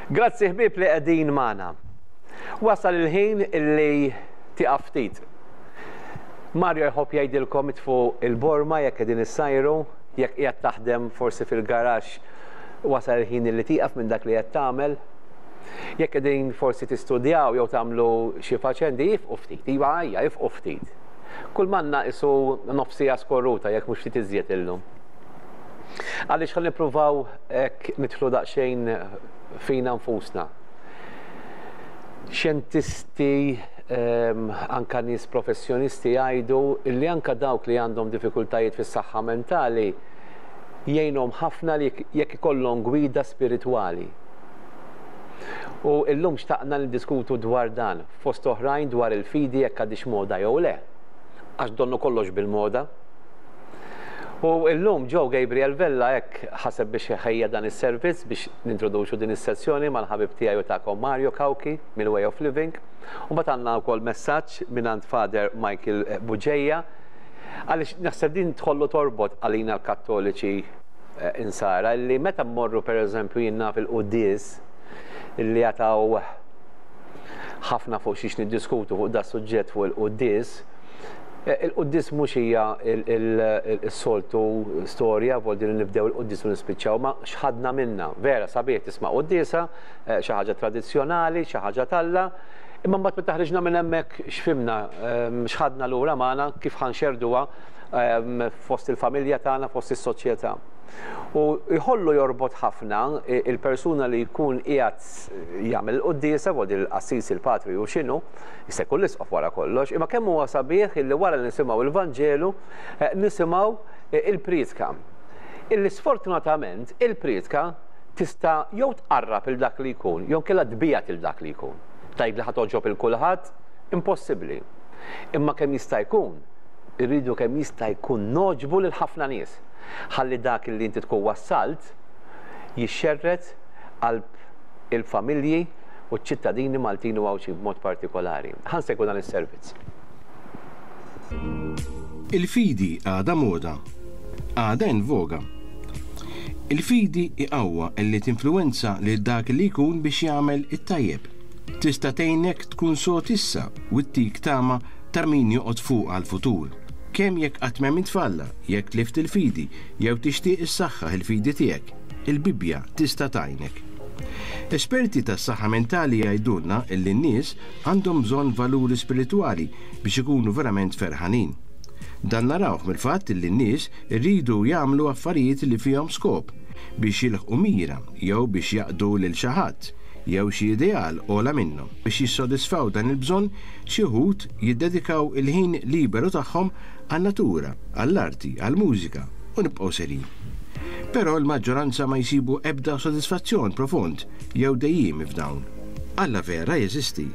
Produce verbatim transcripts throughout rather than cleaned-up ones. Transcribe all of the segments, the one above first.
Grazzi, ħbieb, li qegħdin magħna. Wasal il-ħin illi tieqaf ftit. Mario jħobb jgħidilkom itfu il-borma jekk qegħdin issajru, jekk qiegħed taħdem forsi fil-garaxx, wasal il-ħin illi tieqaf minn dak li qed tagħmel. Jekk qegħdin forsi tistudjaw jew tagħmlu xi faċendi, ifqu ftit, iva ejja, ifqu ftit. Kull m'għandna qisu nofs siegħa skorruta, jekk mhux ftit iżjed, illum. Għaliex ħa nippruvaw hekk nidħlu daqsxejn fina nfusna. Xjentisti, um, anka nies professjonisti jgħidu li anka dawk li għandhom diffikultajiet fis-saħħa mentali jgħinhom ħafna li jekk ikollhom gwida spiritwali. U illum xtaqna niddiskutu dwar dan, fost oħrajn dwar il-fidi, jekk għadhiex moda jew le. Għax donnu kollox bil-moda. U illum Joe Gabriel Vella hekk ħaseb biex ħejja dan is-servizz biex nintroduċu din is-sessjoni mal-ħabib tiegħi u tagħkom Mario Cauchi mill-Way of Living. U mbagħad għandna wkoll messaġġ mingħand Father Michael Bugeja. Għaliex naħseb din tħollu torbot għalina l-Kattoliċi eh, insara li meta mmorru, pereżempju, jiena fil-quddies, illi jataw ħafna fuq xiex niddiskutu fuq da suġġett fuq il-quddies. Eh, Il-quddies mhux hija il-soltu storja, vol din nibdew il-quddies u nispiċċaw, ma x'ħadna minna. Vera sabiħ tisma' quddiesa, eh, xi ħaġa tradizzjonali, xi ħaġa t'Alla, imma mbagħad meta ħriġna minn hemmhekk, x'fhimna, ehm, x'ħadna lura magħna, kif ħa nxerrduha ehm, fost il-familja tagħna, fost is-soċjetà? U jħollu jorbot ħafna il-persuna li jkun qiegħed jagħmel il-quddiesa, vol il-qassis, il-patri u x'inhu, jista' jkun l-isqof wara kollox, imma kemm huwa sabiħ illi wara li nisimgħu il-Vanġelu eh, nisimgħu eh, il-priedka. Illi sfortunatament il-priedka tista' jew tqarrab il dak li jkun, jew inkella tbiegħed il dak li jkun. Tgħid li ħa togħġob il kulħadd, impossibbli. Imma kemm jista' jkun, irridu kemm jista' jkun nogħġbu lil ħafna nies. Ħalli dak li inti tkun wassalt jixxerred qalb il-familji u ċ-ċittadini Maltin u Għawdxin b'mod partikolari. Ħa nsegwu dan is-servizz. Il-fidi għadha moda, għadha in voga. Il-fidi iqawwa illi tinfluwenza li dak li jkun biex jagħmel it-tajjeb. Tista' tgħinek tkun sod issa u ttik tama ta' min joqgħod fuq għal-futur. Kemm jekk qatt m'emmint f'Alla, jekk tlift il-fidi, jew tixtieq issaħħaħ il-fidi tiegħek, il-Bibbja tista' tgħinek. Esperti tas-saħħa mentali jgħidulna illi n-nies għandhom bżonn valuri spiritwali biex ikunu verament ferħanin. Dan narawh mill-fatt li n-nies irridu jagħmlu affarijiet li fihom skop biex jilħqu mira jew biex jaqdu lil xi ħadd jew xi ideal ogħla minnhom. Biex jissodisfaw dan il-bżonn, xi wħud jiddedikaw il-ħin liberu tagħhom għan-natura, għall-arti, għall-mużika u nibqgħu serin. Però l-maġġoranza ma jsibu ebda sodisfazzjon profond jew dejjiem f'dawn. Alla vera jeżisti?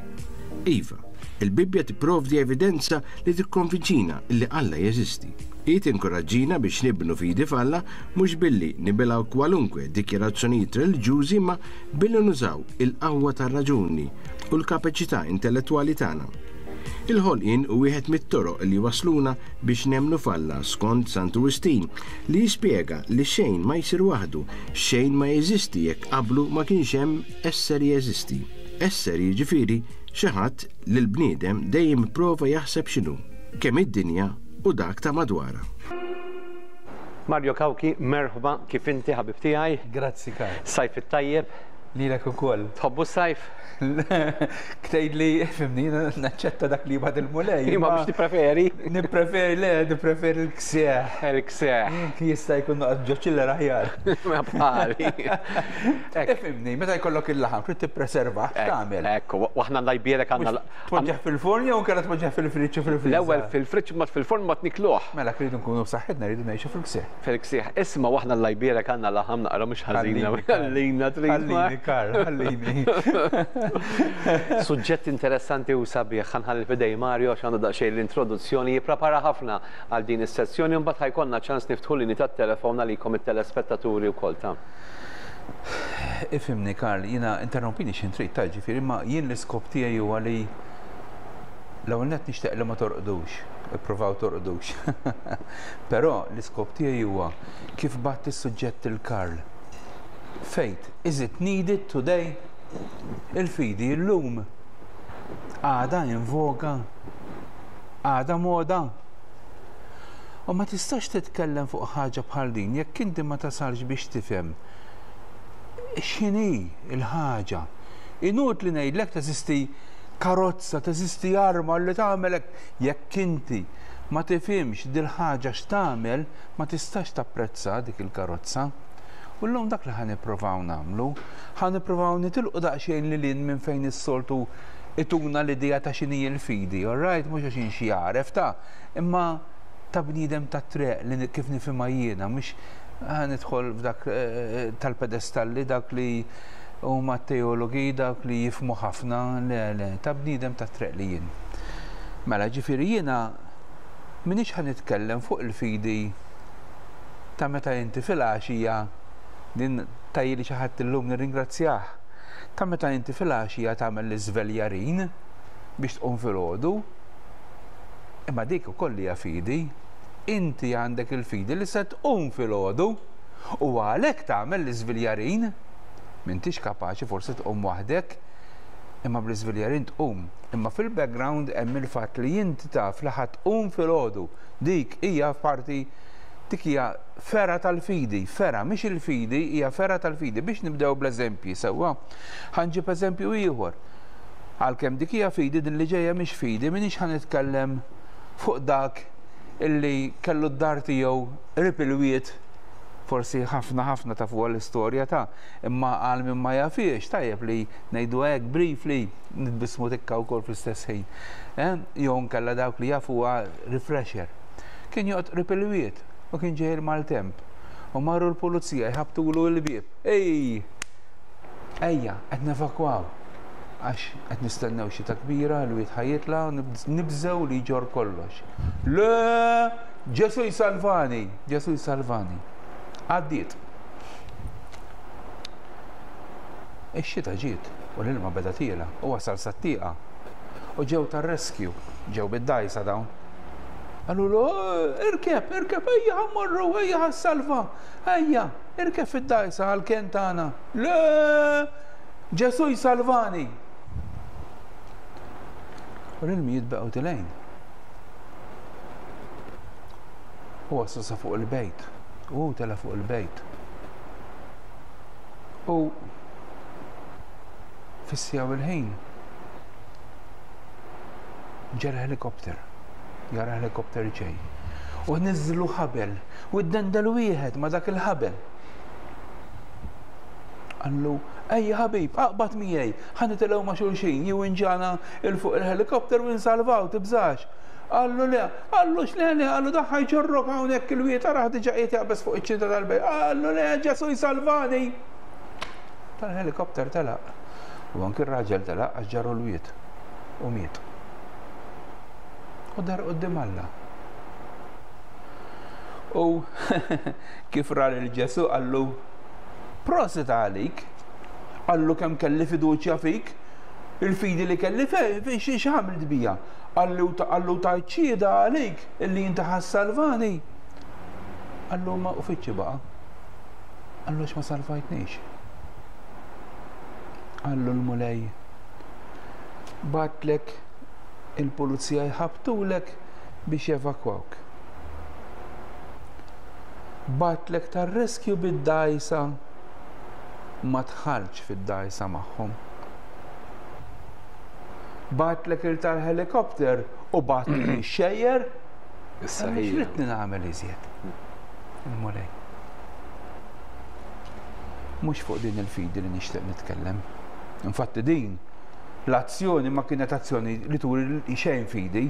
Iva, il-Bibbja tipprovdi evidenza li tikkonvinċina li Alla jeżisti. Hi tinkoraġġina biex nibnu fidi f'Alla mhux billi nibilgħu kwalunkwe dikjarazzjonijiet reliġjużi, ma billi nużaw il-qawwa tar-raġuni u l-kapaċità intellettwali tagħna. Il-ħolqien hu wieħed mit-toroq li wasluna biex nemmnu f'Alla, skont Santu Wistin, li jispjega li xejn ma jsir waħdu, xejn ma jeżisti jekk qablu ma kienx hemm esseri jeżisti. Esseri jiġifieri xi ħadd li l-bniedem dejjem prova jaħseb x'inhu, kemm id-dinja u dak ta' madwarha. Mario Cauchi, merħba, kif inti, ħabib tiegħi? Grazzi, Karl. Sajf it-tajjeb. Lilek ukoll. Tħobbu s-sajf? Ktejt li, fhimni, naċċetta dak li jibgħat il-Mulej. Imma biex tippreferi? Nippreferi, le, nippreferi l-ksieħ. Il-ksieħ. Jista' jkun noqgħod ġo chiller aħjar. Ma bħali. Fhimni, meta jkollok il-laħam, trid tippreserva, tagħmel? Ekku, waħna Alla jbierek għandna. Tpoġġeħ fil-forn jew inkella tpoġġeħ fil-friġġ u fil-friża? L-ewwel fil-friġġ, ma fil-forn ma tnikluh. Mela rridu nkunu b'saħħitna, rridu ngħixu fil-ksieħ. Fil-ksieħ. Isma', waħna Alla jbierek għandna laħam naqra mhux ħażina. Ħallina trid. Ħallini, Karl, ħallini. Suġġett interessanti u sabiħ, ħa nħalli f'idejn Mario għax għandu daqsxejn l-introduzzjoni, jipprepara ħafna għal din is-sessjoni, mbagħad ħa jkollna ċans niftħu linji tat-telefon għalikom it-telespettaturi wkoll ta' Ifhimni, Karl, jiena interrompini x'ħin trid ta', ġifieri, ma jien l-iskop tiegħi huwa li l-ewwel nett nixtieq li ma torqdux, ippruvaw torqdux. Però l-iskop tiegħi huwa kif bgħatt is-suġġett il-Karl. Faith, is it needed today? Il-fidi llum għadha in voga, għadha moda. U ma tistax titkellem fuq ħaġa bħal din jekk inti ma tasalx biex tifhem x'inhi l-ħaġa. Inutli ngħidlek teżisti karozza, teżisti arma li tagħmelek, jekk inti ma tifhimx dil-ħaġa x'tagħmel, ma tistax tapprezza dik il-karozza. U llum dak li ħa nippruvaw nagħmlu, ħa nippruvaw nitilqu daqsxejn lil hinn minn fejn is-soltu ituna l-idea ta' x'inhi l-fidi, all right, mhux għax xi għaref ta' imma ta' bniedem ta' triq li kif nifhimha jiena, mhux ħa nidħol f'dak tal-pedestalli, dak li huma teologi, dak li jifhmu ħafna, le, le, ta' bniedem ta' triq li jien. Mela, ġifieri jiena minix ħa nitkellem fuq il-fidi ta' meta inti fil-għaxija, din tajli xi ħadd illum nirringrazzjah, ta' meta inti fil-għaxija tagħmel l-iżveljarin biex tqum filgħodu, imma dik ukoll hija fidi. Inti għandek il-fidi li se tqum filgħodu u għalhekk tagħmel l-iżveljarin. M'intix kapaċi forsi tqum waħdek, imma bl-iżveljarin tqum. Imma fil-background hemm il-fatt li inti taf li ħa tqum filgħodu. Dik hija parti, dik hija fergħa tal-fidi, fergħa, mhix il-fidi, hija fergħa tal-fidi. Biex nibdew bl-eżempji sewwa, ħa nġib eżempju ieħor. Għalkemm dik hija fidi, din li ġejja mhix fidi, m'iniex ħa nitkellem fuq dak illi kellu d-dar tiegħu qrib il-wied, forsi ħafna ħafna ta' fuq l-istorja ta' imma għal min ma jafiex, tajjeb li ngħidu hekk briefly, nitbismu tikka wkoll fl-istess ħin. Jew nkella dawk li jafuha refresher. Kien joqgħod qrib il-wied u kien ġej il-maltemp u marru l-pulizija jħabtulu l-bieb. Ej, ejja, qed nevakwaw għax qed nistennew xita kbira, l-wied ħa jitla', nibżew li jġor kollox. Le, Ġesu jsalvani, Ġesu jsalvani. Għaddiet. Ix-xita ġiet u l-ilma beda tiela u wasal sat-tieqa. U ġew tar-rescue, ġew bid-dajsa dawn. Qalulu, irkeb, irkeb, ejja ħa mmorru, ejja ħa ssalva, ejja, irkeb fid-dajsa għall-kenn tagħna. Le, Ġesu jsalvani. U l-ilmijiet baqgħu tilejn. U wasal sa fuq il-bejt. U tela fuq il-bejt. U fis-siegħa il-ħin ġera helikopter. Jara helikopter ġej. U niżlu ħabel u ddendel wieħed ma' dak il-ħabel. Qallu, ejja ħabib, aqbad miegħi, ħa nitilgħu ma' xulxin, jew inġana il fuq il-helikopter u nsalvaw, tibżax. Qallu le, qallu x'le le, qallu daħħa jġorrok hawnhekk il-wied, ara diġà qiegħed jaqbeż fuq iċ-ċinta tal-bejt. Qallu le, Ġesu jsalvani. Tal-helikopter telaq. U anki r-raġel telaq għax ġarru l-wied u miet. U dar quddiem Alla. U kif ra lil Ġesu qallu, prosit għalik, qallu kemm kelli fiduċja fik, il-fidi li kelli fejn x'għamilt bija. Qallu qallu tajt xhieda għalik illi inti ħa ssalvani. Qallu ma uffiċċi baqa'. Qallu x'ma salvajtnix. Qallu l-Mulej, batlek il-pulizija jħabtulek biex jevakwawk. Batlek tar-rescue bid-dajsa, ma tħallx fid-dajsa magħhom. Batlek il tal-helikopter u batlek ix-xejjer. Issa Għaliex hija. ridni nagħmel iżjed? Il-Mulej. Mhux fuq din il-fidi li nixtieq nitkellem. Infatti din l-azzjoni ma kienet azzjoni li turi xejn fidi,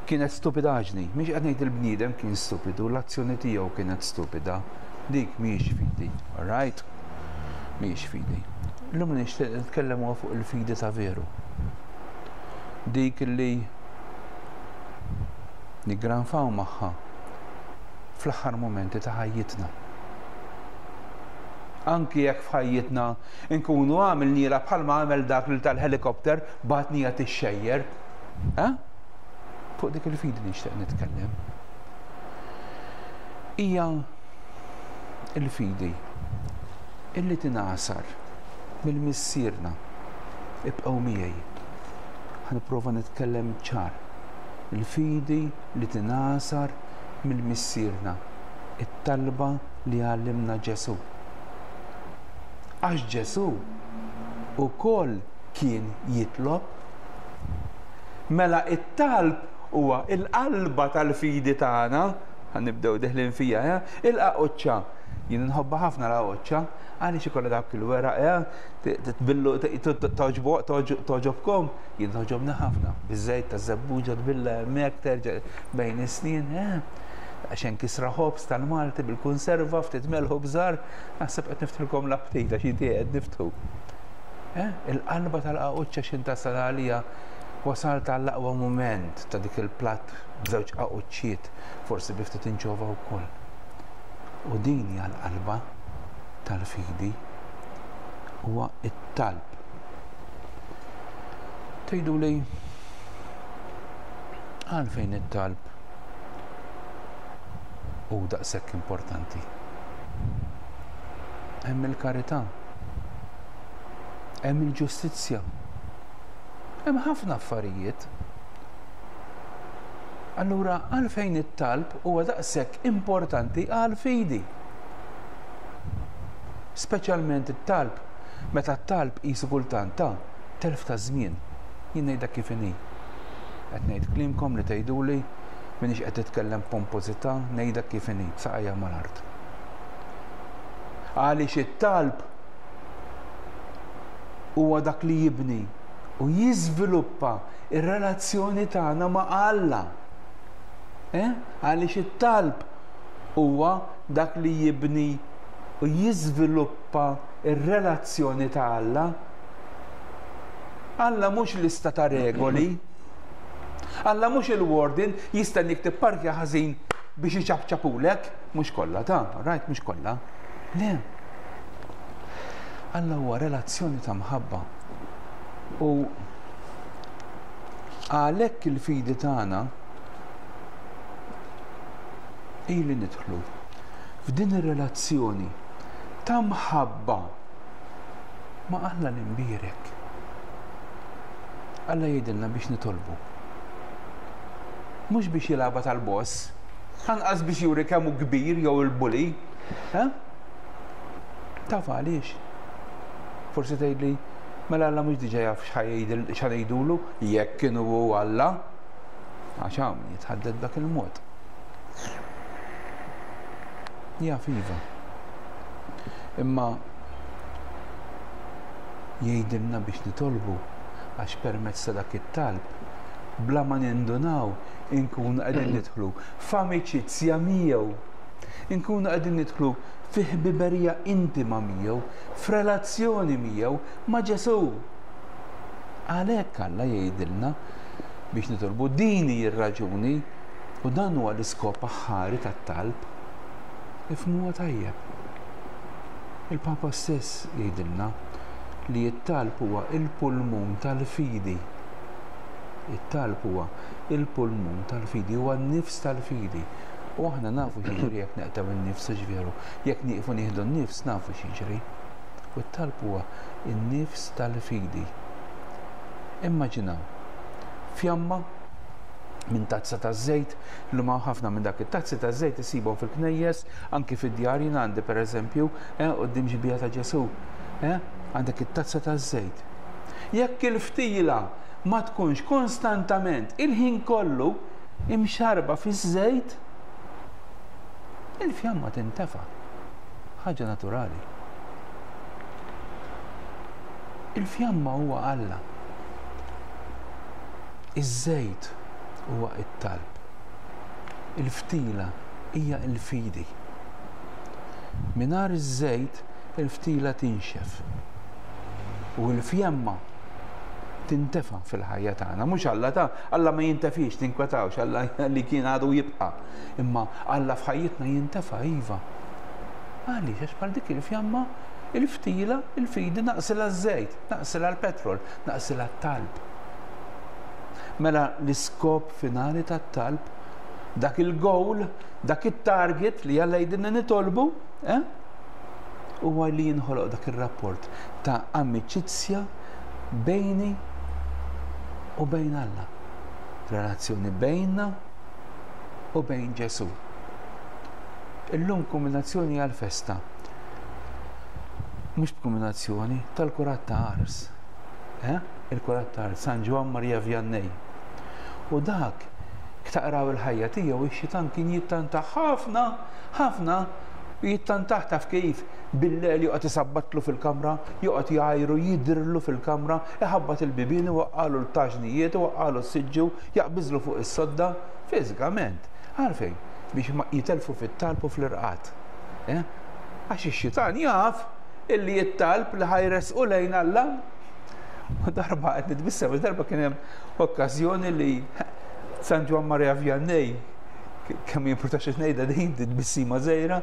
kienet stupidaġni. Mhix qed ngħid il-bniedem kien stupidu, l-azzjoni tiegħu kienet stupida. Dik mhijiex fidi, all right? Mhijiex fidi. Illum nixtieq nitkellem huwa fuq il-fidi ta' veru. Dik li niggranfaw magħha fl-aħħar momenti ta' ħajjitna. Anki jekk f'ħajjitna nkunu għamilniela bħalma għamel dak li tal-helikopter batnija tixxejjer. Eh? Fuq dik il-fidi nixtieq nitkellem. Hija il-fidi illi tingħasar mill-missierna Ibqgħu miegħi. Ħa nipprova nitkellem ċar. Il-fidi li tingħasar mill-Missierna, it-talba li għallimna Ġesù. Għax Ġesù ukoll kien jitlob. Mela it-talb huwa il-qalba tal-fidi tagħna, ħa nibdew deħlin fija, eh? Il-qaquċċa. Jien nħobbha ħafna l-qaquċċa, għaliex ikollha dak il-weraq, eh? Tbillu toġobkom, jien toġobni ħafna. Biż-żejt taż-żebbuġa tbilla hemmhekk terġa' bejn is-snin, eh? Għaxen kisra ħobż tal-Malti bil-konserva, ftit melħu bżar, naħseb qed niftħilkom l-aptit għax inti qed niftħu. Eh? Il-qalba tal-qaquċċa x'in tasal għalija wasalt għall-aqwa mument ta' dik il-platt b'żewġ qaquċċiet, forsi bi ftit inċova wkoll. U din hija l-qalba tal-fidi, huwa it-talb. Tgħidu li għalfejn it-talb hu daqshekk importanti? Hemm il-karità, hemm il-ġustizzja, hemm ħafna affarijiet. Allura għalfejn it-talb huwa daqshekk importanti għall-fidi? Speċjalment it-talb, meta t-talb qisu kultant ta' telf ta' żmien. Jien ngħidha kif inhi. Qed ngħid kliemkom li tgħiduli m'iniex qed titkellem pompożità, ngħidha kif inhi, saqajja mal-art. Għaliex it-talb huwa dak li jibni u jiżviluppa ir-relazzjoni tagħna ma' Alla. Eh? Għaliex it-talb huwa dak li jibni u jiżviluppa ir-relazzjoni ta' Alla. Alla mhux lista ta' regoli. Alla mhux il-warden jistennik tipparkja ħażin biex iċapċapulek, mhux kollha ta' right, mhux kollha. Le. Alla huwa relazzjoni ta' mħabba. U għalhekk il-fidi tagħna ili nidħlu f'din ir-relazzjoni ta' mħabba ma' Alla l-imbierek. Alla jgħidilna biex nitolbu. Mhux biex jilgħabha tal-boss, anqas biex juri kemm hu kbir jew il-bully. Eh? Taf għaliex? Forsi tgħidli, mela Alla mhux diġà jaf x'ħajdulu jekk kienu hu Alla. Għax hawn jitħadded dak il-mod. Jaf iva. Imma jgħidilna biex nitolbu għax permezz ta' dak it-talb bla ma nindunaw inkunu qegħdin nidħlu f'amiċizzja miegħu. Inkunu qegħdin nidħlu fi ħbiberija intima miegħu, f'relazzjoni miegħu ma' Ġesù. Għalhekk Alla jgħidilna biex nitolbu. Din hi r-raġuni u dan huwa l-iskop aħħari tat-talb. Ifhmuha tajjeb. Il-Papa stess jgħidilna li t-talb huwa il-pulmun tal-fidi. It-talb huwa il-pulmun tal-fidi, huwa n-nifs tal-fidi. U aħna nafu x'jiġri jekk neqtgħu n-nifs, hux veru? Jekk nieqfu nieħdu n-nifs nafu x'jiġri. U t-talb huwa n-nifs tal-fidi. Immaġinaw fjamma minn tazza ta' żejt, li ma ħafna minn dak it-tazzi ta' żejt isibhom fil-knejjes, anki fid-djar jien għandi pereżempju, eh, quddiem xbieha ta' Ġesù, eh, għandek it-tazza ta' żejt. Jekk il-ftila ma tkunx konstantament il-ħin kollu imxarba fiż-żejt, il-fjamma tintefa'. Ħaġa naturali. Il-fjamma huwa Alla. Iż-żejt huwa it-talb. Il-ftila hija il-fidi. Mingħajr iż-żejt il-ftila tinxef. U l-fjamma tintefa fil-ħajja tagħna. Mhux Alla ta' Alla ma jintefix, tinkwetawx, Alla li kien għadu jibqa'. Imma Alla f'ħajjitna jintefa' iva. Għaliex? Għax bħal dik il-fjamma, il-ftila, il-fidi naqsilha ż-żejt, naqsilha l-petrol, naqsilha t-talb. Mela l-iskop finali tat-talb, dak il-goal, dak it-target li Alla jgħidilna nitolbu, eh? huwa li jinħoloq dak ir-rapport ta' amiċizzja bejni u bejn Alla. Relazzjoni bejnna u bejn Ġesù. Illum kombinazzjoni għal-festa. Mhux b'kombinazzjoni tal-kurat ta' Ars. Eh? Il-kurat ta' Ars, San Ġwann Maria Vianney. U dak, taqraw il-ħajja tiegħu, ix-xitan kien jittanta ħafna, ħafna, jittantah taf kif bil-lejl joqgħod isabbatlu fil-kamra, joqgħod jgħajru, jidhirlu fil-kamra, iħabbat il-bibien, iwaqqalu l-taġnijiet, iwaqqalu s-siġġu, jaqbiżlu fuq is-sodda, fiżikament. Għalfejn? Biex ma jitelfu fit-talb u fl-irqad. Eh? Għax ix-xitan jaf illi jittalb li ħa jressqu lejn Alla. U darba qed nitbissem, darba kien hemm okkażjoni li San Ġwann Maria Vianney, kemm jimpurtax ngħidha din tbissima żgħira,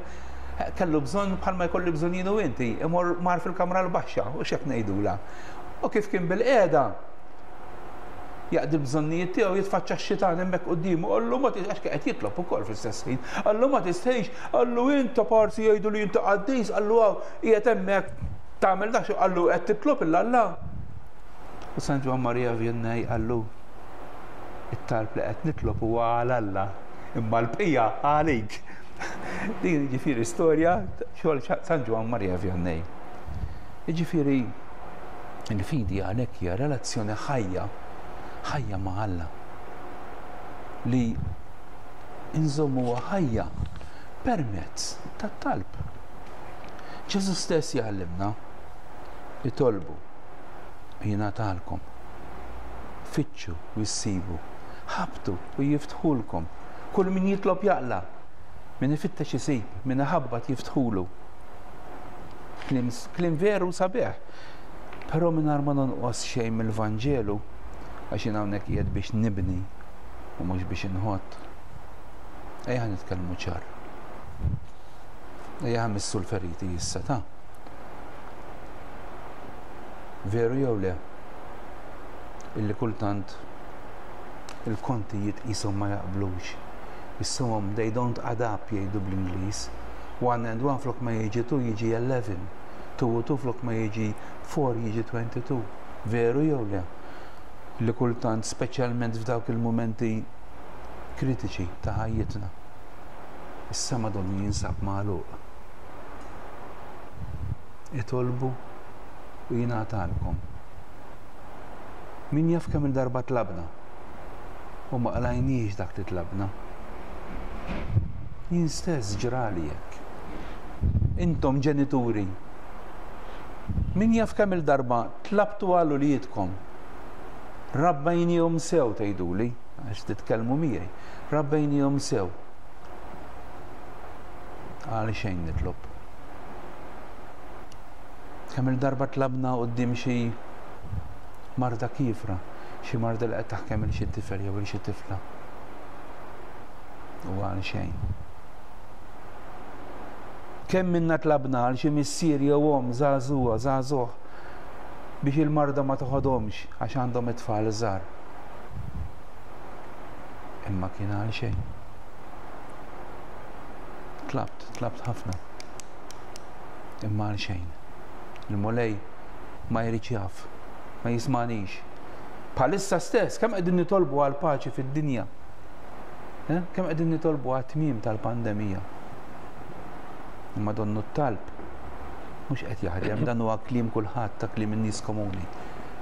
kellu bżonn bħalma jkolli bżonn jien u inti, imur mar fil-kamra l-baxxa, u x'hekk ngħidula. U kif kien bil-qiegħda jaqdi bżonnijiet tiegħu jitfaċċa x-xitan hemmhekk quddiemu, qallu ma għax qed jitlob ukoll fl-istess ħin. Qallu ma tistħix, qallu inta parsi jgħidu li inta qaddis, qallu hawn qiegħed hemmhekk tagħmel dak, qallu qed titlob il Alla. U San Ġwann Maria Vianney qallu it-talb li qed nitlob huwa għal Alla, imma l-bqija għalik. Din jiġifieri storja xogħol San Ġwann Maria Vianney. Jiġifieri il-fidi għalhekk hija relazzjoni ħajja, ħajja ma' Alla li inżommuha ħajja permezz tat-talb. Ġesu stess jgħallimna itolbu jingħatalkom, fittxu u jsibu, ħabtu u jiftħulkom. Kull min jitlob jaqla, min ifittex isib, min iħabbat jiftħulu. Kliem, kliem veru sabiħ, però mingħajr ma nonqos xejn mill-Vanġelu, għax jien hawnhekk qiegħed biex nibni u mhux biex inħott. Ejja nitkellmu ċar. Ejja missu l-feriti issa ta' veru jew le illi kultant il-kontijiet qishom ma jaqblux. Issumhom they don't add up jgħidu bl-Ingliż. One and one flok ma jiġi two jiġi eleven. Two u two flok ma jiġi four jiġi twenty-two. Veru jew le? Li kultant, speċjalment f'dawk il-mumenti kritiċi ta' ħajjitna, is-sema donnu jinsab magħluq. Itolbu u jingħatalkom. Min jaf kemm il-darba tlabna u ma qlajniex dak li tlabna. Jien stess ġrali hekk. Intom ġenituri, min jaf kemm il-darba tlabtu għal uliedkom. Rabbejnihom sew tgħiduli, għax titkellmu miegħi. Rabbejnihom sew. Għal xejn nitlob. Kemm il-darba tlabna quddiem xi marda kifra, xi marda li qed taħkem il xi tifel jew il xi tifla. U għal xejn. Kemm minna tlabna għal xi missier jew omm żagħżugħa, żagħżugħ biex il-marda ma toħodhomx għax għandhom it-tfal żgħar. Imma kien għal xejn. Tlabt, tlabt ħafna. Imma għal xejn. Il-Mulej ma jridx jaf, ma jismanix. Bħalissa stess, kemm qegħdin nitolbu għal paċi fid-dinja? Eh? Kemm qegħdin nitolbu għat tmiem tal-pandemija? Imma donnu t-talb mhux qed jaħdem, dan huwa kliem kulħadd, ta' kliem in-nies komuni.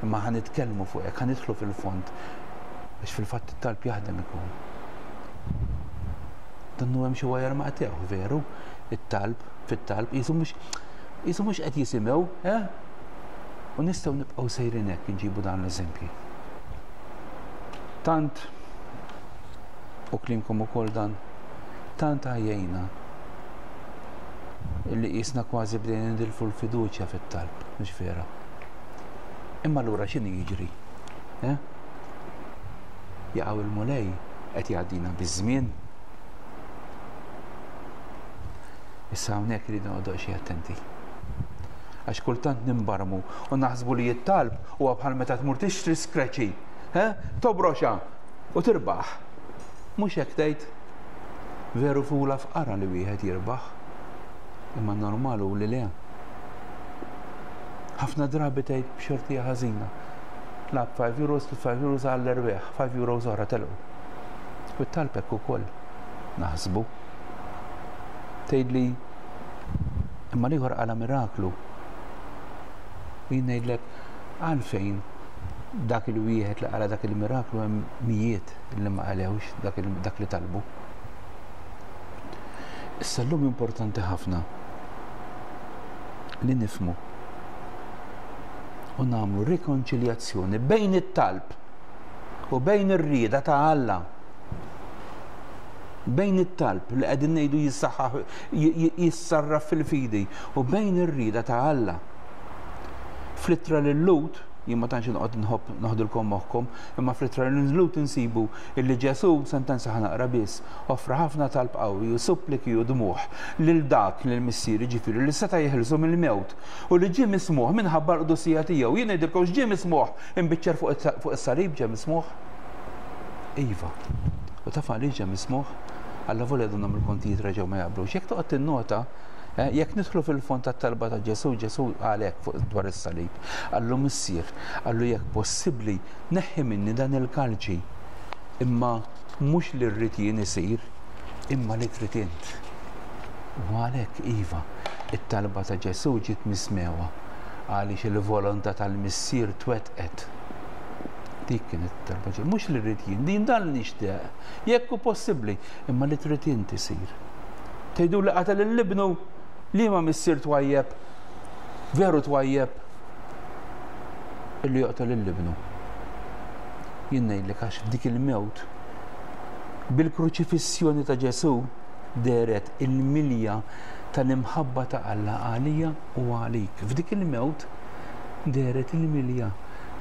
Imma ħa nitkellmu fuq hekk, ħa nidħlu fil-fond biex fil-fatt it-talb jaħdem ikun. Donnu hemm xi wajer maqtew, veru, it-talb, fit-talb, qisu mhux qisu mhux qed jisimgħu, eh? U nistgħu nibqgħu sejrin hekk inġibu dan l-eżempji. Tant, u klimkom ukoll dan, tant għajjejna illi qisna kważi bdejna nidilfu l-fiduċja fit-talb, mhux vera. Imma allura x'inhi jiġri? Eh? Jaqgħu il-Mulej qed jgħaddina biż-żmien. Issa hawnhekk irridu noqogħdu xi attenti. Għax kultant nimbarmu u naħsbu li t-talb huwa bħal meta tmur tixtri skreċi, eh? Tobroxa u tirbaħ. Mhux hekk tgħid? Veru fula fqara li wieħed jirbaħ. Imma normal hu li le. Ħafna drabi tgħid b'xortija ħażina. Lagħab five euros, five euros għall-erwieħ, five euros oħra telqu. U t-talb hekk ukoll naħsbu. Tgħidli imma l-ieħor qala miraklu. U jien ngħidlek għalfejn dak il-wieħed li qala dak il-miraklu hemm mijiet li ma qalewx dak, dak li talbu. Issa llum importanti ħafna li nifhmu u nagħmlu rikonċiljazzjoni bejn it-talb u bejn ir-rieda ta' Alla. Bejn it-talb li qegħdin ngħidu jissaħħaħ jissarraf fil-fidi u bejn ir-rieda ta' Alla. Fl-ittra lil-Lhud, jien ma tantx noqgħod nħobb noħdilkom moħħkom, imma fl-ittra lil-Lhud insibu illi Ġesù, sentenza ħa naqra biss, offra ħafna talb qawwi u suppliki u dmugħ lil dak lil missier, ġifieri li seta' jeħilsu mill-mewt u li ġie mismugħ minħabba l-qdusija tiegħu. Jien ngħidilkom x'ġie mismugħ imbiċċer fuq is-salib ġie mismugħ. Iva. U taf għaliex ġie mismugħ? Alla volja donnhom il-kontijiet reġgħu ma jaqblux. Jekk toqgħod tinnota, jekk nidħlu fil-fond tat-talba ta' Ġesù, Ġesù għalhekk fuq dwar is-salib. Qallu Missier, qallu jekk possibbli neħħi minni dan il-kalċi, imma mhux li rrid jien isir, imma li trid int. U għalhekk iva, it-talba ta' Ġesù ġiet mismewha għaliex il-volontà tal-Missier twettqet. Dik kienet it-talba ġie, mhux li rrid jien, din dan nixtieq, jekk hu possibbli, imma li trid int isir. Tgħidu li qatel lil ibnu li ma missier twajjeb, veru twajjeb, illi joqtol lil ibnu. Jien ngħidlek għax f'dik il-mewt, bil-kruċifissjoni ta' Ġesù dehret il-milja tal-imħabba ta' Alla għalija u għalik. F'dik il-mewt dehret il-milja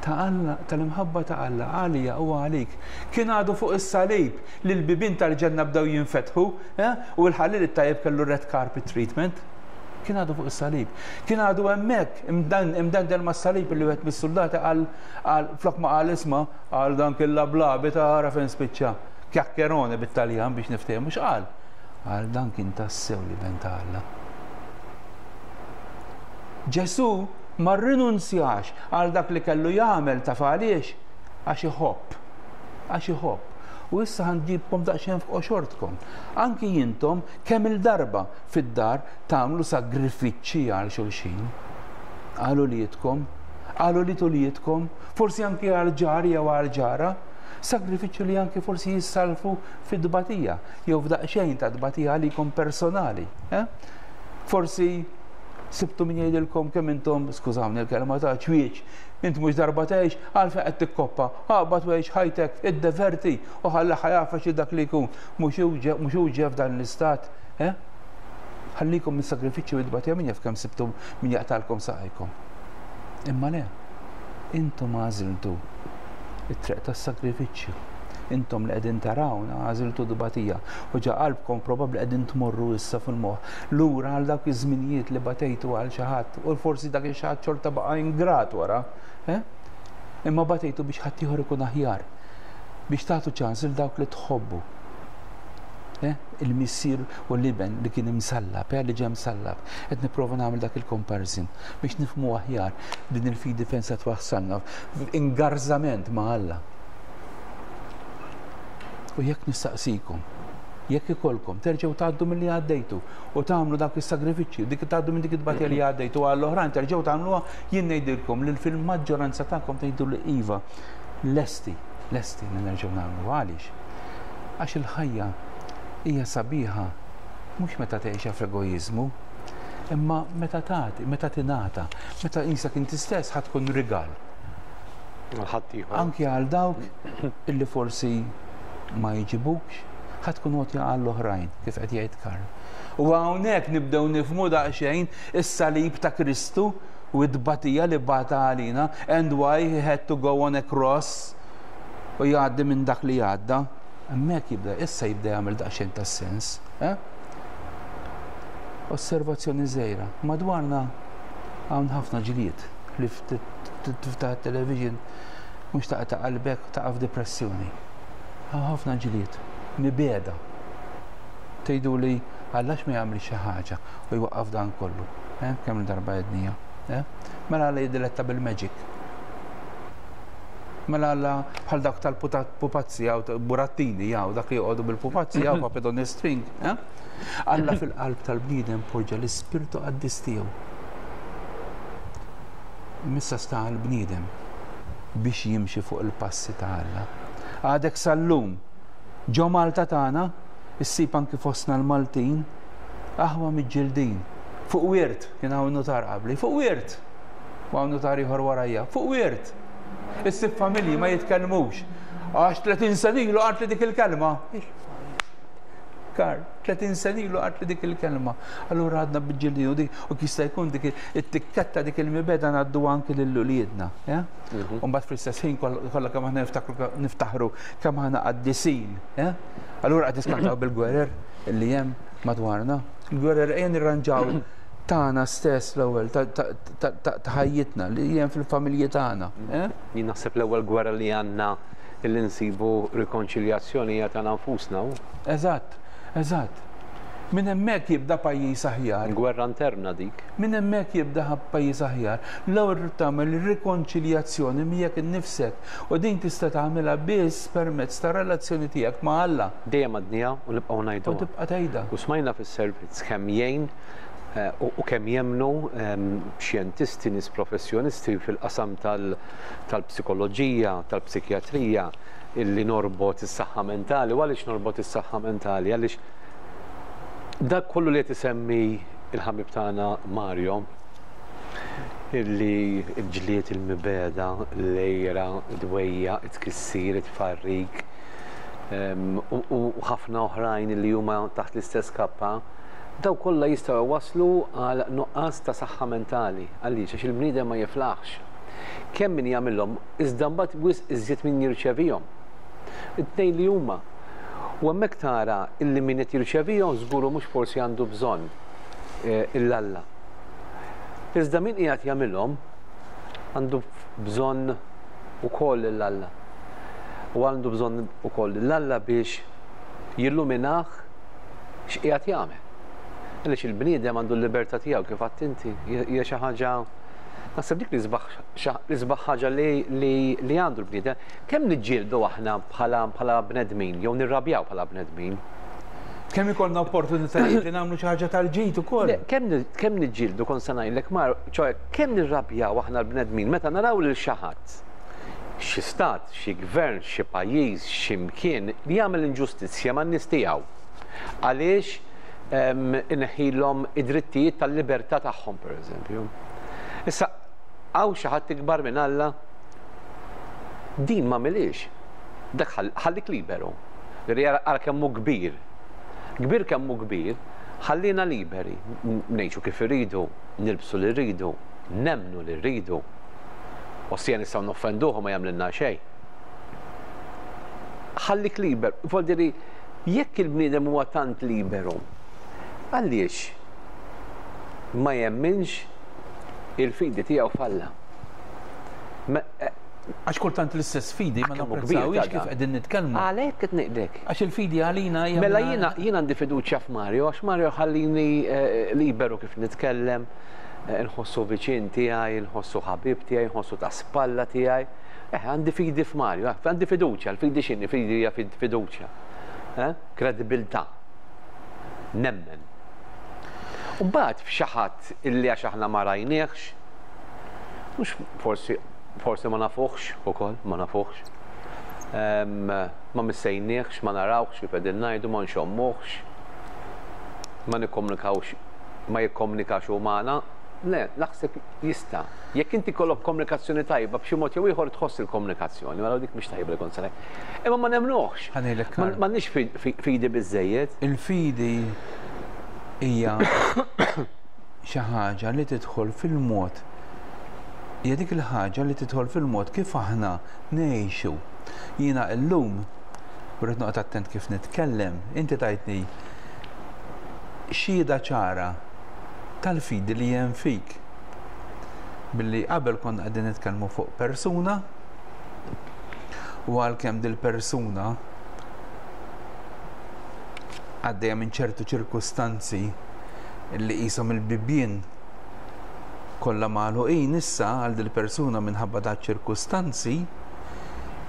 ta' Alla, tal-imħabba ta' Alla għalija u għalik. Kien għadu fuq is-salib li l-bibien tal-ġenna bdew jinfetħu, eh? U l-ħallil it-tajjeb kellu red carpet treatment. Kien għadu fuq is-salib. Kien għadu hemmhekk imdendel mas-salib li wieħed mis-soldati qal, qal flok ma qal isma', qal dan kien lablabi ta' ara fejn spiċċa. Chiacchierone bit-Taljan biex niftehmu x'qal. Qal dan kien tassew li ben ta' Alla. Ġesù ma rrinunzjax għal dak li kellu jagħmel, taf għaliex? Għax iħobb. Għax iħobb. U issa ħanġibkom daqsxejn f'qoxortkom. Anki jintom kemm il-darba fid-dar tagħmlu sagrifiċċji għal xulxin. Għal uliedkom, għal ulied uliedkom, forsi anki għal ġar jew għal ġara, sagrifiċċju li anki forsi jissalfu fid-tbatija jew f'daqsxejn ta' tbatija għalikom personali. Eh? Forsi sibtu min jgħidilkom kemm intom, skużawni l-kelma ta' ċwieċ, int mhux darba tgħix, għalfejn qed tikkoppa, aqbad u għix ħajtek, iddeverti u ħalli ħajafa xi dak li jkun, mhux hu ġie f'dan l-istat, eh? Ħallikom mis-sagrifiċċju u t-tbatija, min jaf kemm sibtu min jaqtalkom saqajkom. Imma le, intom għażiltu it-triq tas-sagrifiċċju. Intom li qegħdin tarawna għażiltu tbatija u ġa qalbkom probabbli qegħdin tmorru issa fil-moħħ lura għal dawk iż-żminijiet li batejtu għal xi ħadd u forsi dak ix-xi ħadd xorta baqa' ingrat wara, eh? Imma batejtu biex ħaddieħor ikun aħjar, biex tagħtu ċans lil dawk li tħobbu. Eh? Il-missier u l-iben li kien imsallab, eh, li ġie msallab. Qed nipprova nagħmel dak il-comparison biex nifhmu aħjar din il-fidi fejn se twassalna ingarżament ma' Alla. U jekk nistaqsikom, jekk ikolkom terġgħu tgħaddu milli għaddejtu u tagħmlu dak is-sagrifiċċju, dik tgħaddu minn dik it-tbatija li għaddejtu għall-oħrajn terġgħu tagħmluha, jien ngħidilkom li fil-maġġoranza tagħkom tgħidu li iva, lesti, lesti li nerġgħu nagħmlu. Għaliex? Għax il-ħajja hija sabiħa mhux meta tgħixha f'egoiżmu, imma meta tagħti, meta tingħata, meta qisek inti stess ħa tkun rigal. Għal ħaddieħor. Anki għal dawk illi forsi ma jġibukx, ħa tkun għotja għall-oħrajn, kif qed jgħid Karl. U hawnhekk nibdew nifhmu daqsxejn is-salib ta' Kristu u t-tbatija li bata għalina, and why he had to go on a cross u jgħaddi minn dak li għadda. Hemmhekk jibda, issa jibda jagħmel daqsxejn ta' sens. Eh? Osservazzjoni żgħira. Madwarna hawn ħafna ġlied li tiftaħ it-television mhux taqta' qalbek taqa' f'depressjoni. Hawn ħafna ġlied, mibeda. Tgħidu li għallax ma jagħmel xi ħaġa u jwaqqaf dan kollu. Eh? Kemm darba għednija. Eh? Mela Alla jiddiletta bil-magic. Mela Alla bħal dak tal-pupazzi jew burattini jew dak li joqogħdu bil-pupazzi jew puppet on a string. Eh? Alla fil-qalb tal-bniedem poġġa l-ispirtu qaddis tiegħu. Missa sta l-bniedem biex jimxi fuq il-passi ta' Alla. Għadek sal-lum, ġo Malta tagħna, issib anki fostna l-Maltin, aħwa miġġildin. Fuq wirt, kien hawn nutar qabli, fuq wirt. U hawn nutar ieħor warajja, fuq wirt. Issib familji ma jitkellmux. Għax tletin sena ilu qalt li dik il-kelma. Kar, tletin sena ilu qalt li dik il-kelma. Allura għadna biġġildin u dik u jista' jkun dik it-tikketta, dik il-mibegħda ngħaddu anki lil uliedna. Mhm. U mbagħad fl-istess ħin kollha kemm aħna niftaħru kemm aħna qaddisin. Allura qed niskantaw bil-gwerer li hemm madwarna. Il-gwerer ejja nirranġaw tagħna stess l-ewwel, ta' ħajjitna li hemm fil-familji tagħna. Jien naħseb l-ewwel gwerra li għandna li nsibu rikonċiljazzjoni hija tagħna nfusna. Eżatt, eżatt. Minn hemmhekk jibda pajjiż aħjar. Gwerra interna dik. Minn hemmhekk jibda pajjiż aħjar. L-ewwel trid tagħmel rikonċiljazzjoni miegħek innifsek u din tista' tagħmilha biss permezz ta' relazzjoni tiegħek ma' Alla. Dejjem għadniha u nibqgħu ngħiduha. U tibqa' tgħidha. U smajna fis-servizz kemm jgħin u kemm jemmnu xjentisti, nies professjonisti fil-qasam tal-psikoloġija, tal-psikjatrija, illi norbot is-saħħa mentali. U għaliex norbot is-saħħa mentali? Għaliex dak kollu li qed isemmi il-ħabib tagħna Mario, illi l-ġlied, il-mibegħda, l-għira, id-dwejja, it-tkissir, it-tfarrik, u ħafna oħrajn li huma taħt l-istess kappa, daw kollha jistgħu waslu għal nuqqas ta' saħħa mentali. Għaliex? Għax il-bniedem ma jiflaħx. Kemm min jagħmilhom, iżda mbagħad wisq iżjed min jirċevihom. It-tnejn li huma. U hemmhekk tara illi min qed jirċevihom żguru mhux forsi għandu bżonn il-Alla. Iżda min qiegħed jagħmilhom għandu bżonn ukoll il-Alla. U għandu bżonn ukoll l-Alla biex jilluminah x'qiegħed jagħmel. Għaliex il-bniedem għandu l-libertà tiegħu kif għedt inti, hija xi ħaġa, naħseb dik l-isbaħ ħaġa li għandu l-bniedem. Kemm niġġieldu aħna bħala bnedmin, jew nirrabjaw bħala bnedmin? Kemm ikollna opportunitajiet li nagħmlu xi ħaġa tal-ġid ukoll. Kemm niġġieldu, kont se ngħidlek Mar, ċoe kemm nirrabjaw aħna l-bnedmin meta naraw lil xi ħadd, xi stat, xi gvern, xi pajjiż, xi mkien li jagħmel inġustizzja man-nies tiegħu. Għaliex inħilhom id-drittijiet tal-libertà tagħhom, pereżempju. Issa, hawn xi ħadd ikbar minn Alla? Din ma milix. Dak ħallik liberu. Ara kemm hu kbir. Kbir kemm hu kbir, ħallina liberi. Ngħixu kif irridu, nilbsu li rridu, nemmnu li rridu. Ossia nistgħu noffenduh u ma jagħmlilna xejn. Ħallik liber. Vuol jekk il-bniedem huwa tant liberu, għaliex ma jemminx il-fidi tiegħu f'Alla? Għax kultant l-istess fidi ma napprezzawhiex kif qegħdin nitkellmu. Għalhekk qed ngħidlek. Għax il-fidi għalina hija. Mela jiena jien għandi fiduċja f'Mario, għax Mario ħallini liberu kif nitkellem, nħossu viċin tiegħi, nħossu ħabib tiegħi, nħossu ta' spalla tiegħi. Eh, għandi fidi f'Mario, għandi fiduċja, l-fidi x'inhi? Fidi hija fiduċja. Kredibilità. Nemmen. U mbagħad f'xi ħadd illi għax aħna ma rajniehx, mhux forsi forsi ma nafuħx ukoll, ma nafuħx. Ma missejniehx, ma narawx kif qegħdin ngħidu, ma nxommuhx, ma nikkomunikawx, ma jikkomunikax hu magħna. Le, naħseb jista'. Jekk inti kollok komunikazzjoni tajba, b'xi mod jew ieħor tħoss il-komunikazzjoni, mela dik mhix tajba li kont se ngħid. Imma ma nemnuhx. M'għandniex fidi biżejjed. Il-fidi hija xi ħaġa li tidħol fil-mod, hija dik il-ħaġa li tidħol fil-mod kif aħna ngħixu. Jiena llum rrid noqgħod attent kif nitkellem, inti tajtni xhieda ċara tal-fidi li hemm fik. Billi qabel konna qegħdin nitkellmu fuq persuna u għalkemm dil-persuna għaddejja minn ċertu ċirkustanzi li qishom il-bibien kollha magħluqin issa għal dil-persuna minħabba da ċirkustanzi,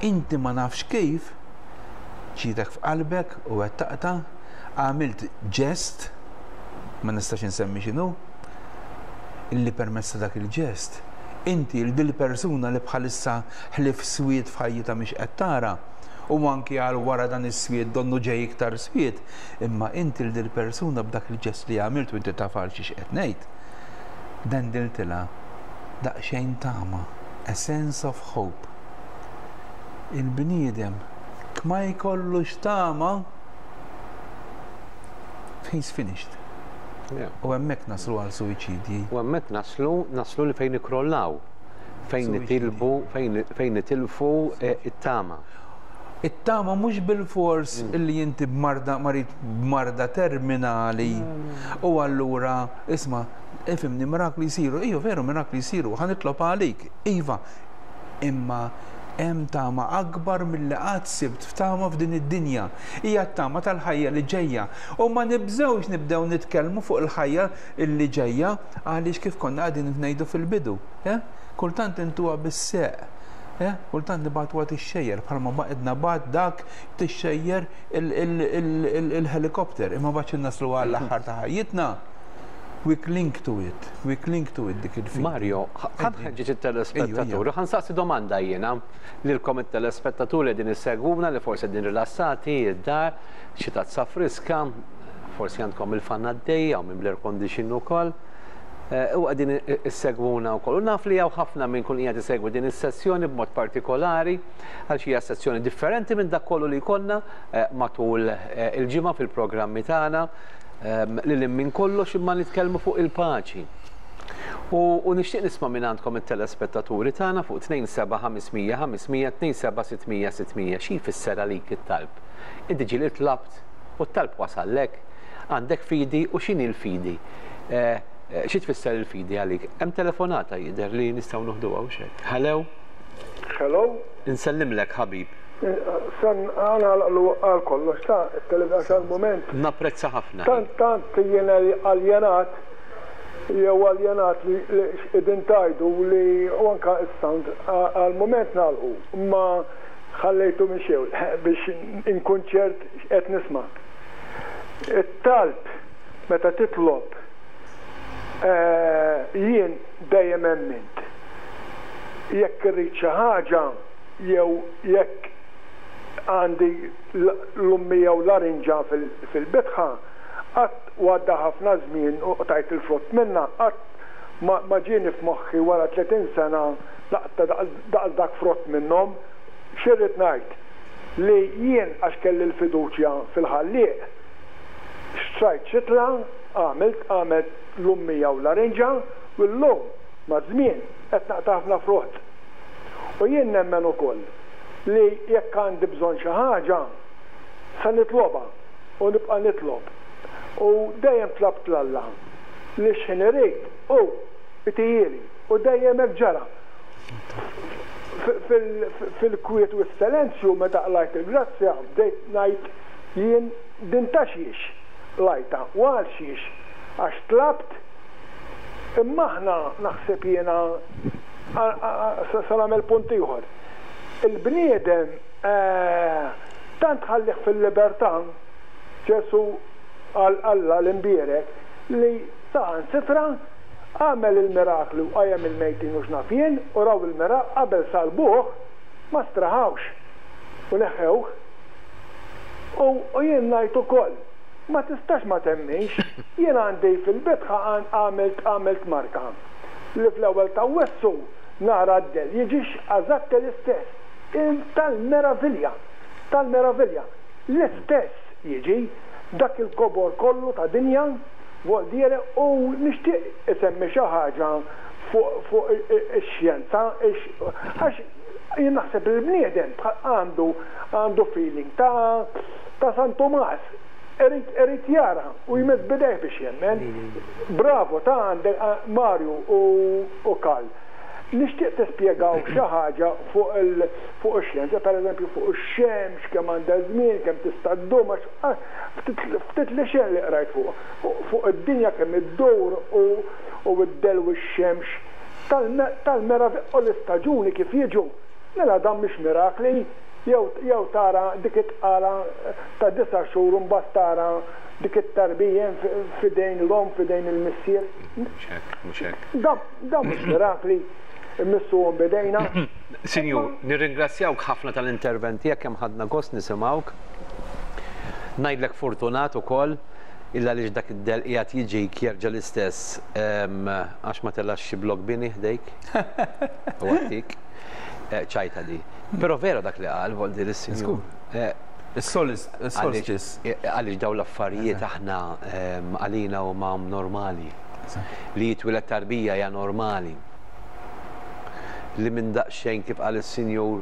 Inti ma nafx kif ġietek f'qalbek u qed taqta', għamilt ġest, ma nistax insemmi x'inhu, illi permezz ta' dak il-ġest, inti l dil persuna li bħalissa ħlief swied f'ħajjitha mhix qed tara, u anki għal wara dan is-swied donnu ġej iktar swied, imma inti l dil persuna b'dak il-ġest li għamilt u inti taf għal xiex qed ngħid, dendiltilha daqsxejn tama, a sense of hope. Il-bniedem ma jkollux tama, he's finished. Yeah. U hemmhekk naslu għal suwiċidji. U hemmhekk naslu, naslu li fejn nikrollaw, fejn Suwiċidji. nitilbu, fejn fejn nitilfu eh, it-tama. It-tama mhux bil-fors illi inti b'marda marid b'marda terminali u allura isma' ifhimni, mirakli jsiru, iju veru mirakli jsiru, ħa nitlob għalik, iva. Imma hemm tama akbar milli qatt sibt f'tama f'din id-dinja. Hija t-tama tal-ħajja li ġejja. U ma nibżgħux nibdew nitkellmu fuq il-ħajja li ġejja għaliex kif konna qegħdin ngħidu fil-bidu. Eh? Kultant intuha bis-seq. Eh? Kultant nibagħtuha tixxejjer bħalma baqedna bad dak tixxejjer il-helikopter imma baċ naslu għall-aħħar ta' ħajjitna. We cling to it, we cling to it dik il-fidi. Mario, ħa nħeġġeġ it-telespettaturi, ħa nsaqsi domanda jiena lilkom it-telespettaturi din issegwuna li forsi din rilassati, id-dar, xi tazza friska, forsi għandkom il-fan għaddej, u minn bl-air condition ukoll. Eh, U qegħdin issegwuna wkoll. U naf li hawn ħafna minn kun qiegħed isegwi din is-sessjoni b'mod partikolari għal xi sessjoni differenti minn dak kollu li jkollna eh, matul eh, il-ġimgħa fil-programmi tagħna ehm, li li minn kollox imma nitkellmu fuq il-paċi. U, u nixtieq nisma' minn għandkom it-telespettaturi tagħna fuq tnejn seba' ħamsa mija ħamsa mija, tnejn seba' sitt mija sitt mija, xi jfisser għalik it-talb. Inti ġieli tlabt u t-talb wasallek, għandek fidi u x'inhi l-fidi? Eh, eh, Xi tfisser il-fidi għalik? Hemm telefonata jidher li nistgħu noħduha u xek. Hello, Hello, insellimlek ħabib. San għana għal kollox ta' il-televizjon għal-moment. Napprezza ħafna. Tant tant jiena aljenat jew aljenat li li qegħdin tgħidu li u anka is-sound għal-moment nagħlqu, imma ħallejtu minn xew biex inkun ċert qed nisma'. It-talb meta titlob eh, jien dejjem emmint. Jekk irrid xi ħaġa jew jekk għandi l-lummija u larinġa fil-bitħa, qatt u għadda ħafna żmien u tajt il-frott minna, qatt ma ma ġieni f'moħħi wara tletin sena naqta' daqs dak frott minnhom. X'irrid ngħid? Li jien għax kelli l-fiduċja fil-Ħallieq, xtrajt xitla, għamilt għamilt lummija u larinġa u llum ma' żmien qed naqta' ħafna frott. U jien nemmen ukoll li jekk għandi bżonn xi ħaġa sa nitloba u nibqa' nitlob. U dejjem tlabt 'l Alla li x'ħin irid u itihieli u dejjem hekk ġara. Fil-kwiet u s-silenzju meta qlajt il-grazzja bdejt ngħid jien din ta' xiex lajta u għal xiex, għax tlabt. Imma aħna naħseb jiena sa nagħmel punt ieħor. Il-bniedem eh, tant ħallih fil-libertà Ġesu għal Alla l-imbierek li saħansitra għamel il-mirakli u qajjem il-mejtin u x'naf jien u raw il-mirakli qabel salbuh ma straħawx u neħewh. U u jien ngħid ukoll ma tistax ma temminx, jien għandi fil-bitħa għamilt għamilt marka li fl-ewwel ta' Awwissu nara d-del jiġix eżatt l-istess. Tal-meravilja, tal-meravilja. L-istess jiġi dak il-kobor kollu ta' dinja, vuol dire, u nixtieq isemmi xi ħaġa fuq fuq ix-xjenza, għax jien naħseb il-bniedem għandu għandu feeling ta' ta' San Tomas. Irid irid jara u jmiss bidejh biex jemmen. Bravo ta' għandek Mario u u Karl. Nixtieq tispjegaw xi ħaġa fuq il fuq ix-xjenza, pereżempju fuq ix-xemx, kemm għandha żmien, kemm tista' ddum, għax ftit ftit li xejn li qrajt fuq fuq id-dinja kemm iddur u u id-del u x-xemx tal-meravilja u l-istaġuni kif jiġu. Mela dan mhix mirakli, jew tara dik it-tqala ta' disa' xhur u mbagħad tara dik it-tarbija f'idejn l-omm, f'idejn il-missier. Mhux hekk, mhux hekk. Dan mhux mirakli, immissuhom b'idejna. Sinjur, nirringrazzjawk ħafna tal-intervent tiegħek, kemm ħadna gost nisimgħuk. Ngħidlek fortunat ukoll illa għaliex dak id-del qiegħed jiġik jerġa' l-istess għax ma tellax xi blok bini ħdejk. U għattik. Ċajta di. Però vera dak li qal vol dir is-sinjur. Is-solstice. Għaliex dawn l-affarijiet aħna għalina huma normali. Li jitwieled tarbija hija normali. Li minn daqsxejn kif qal is-sinjur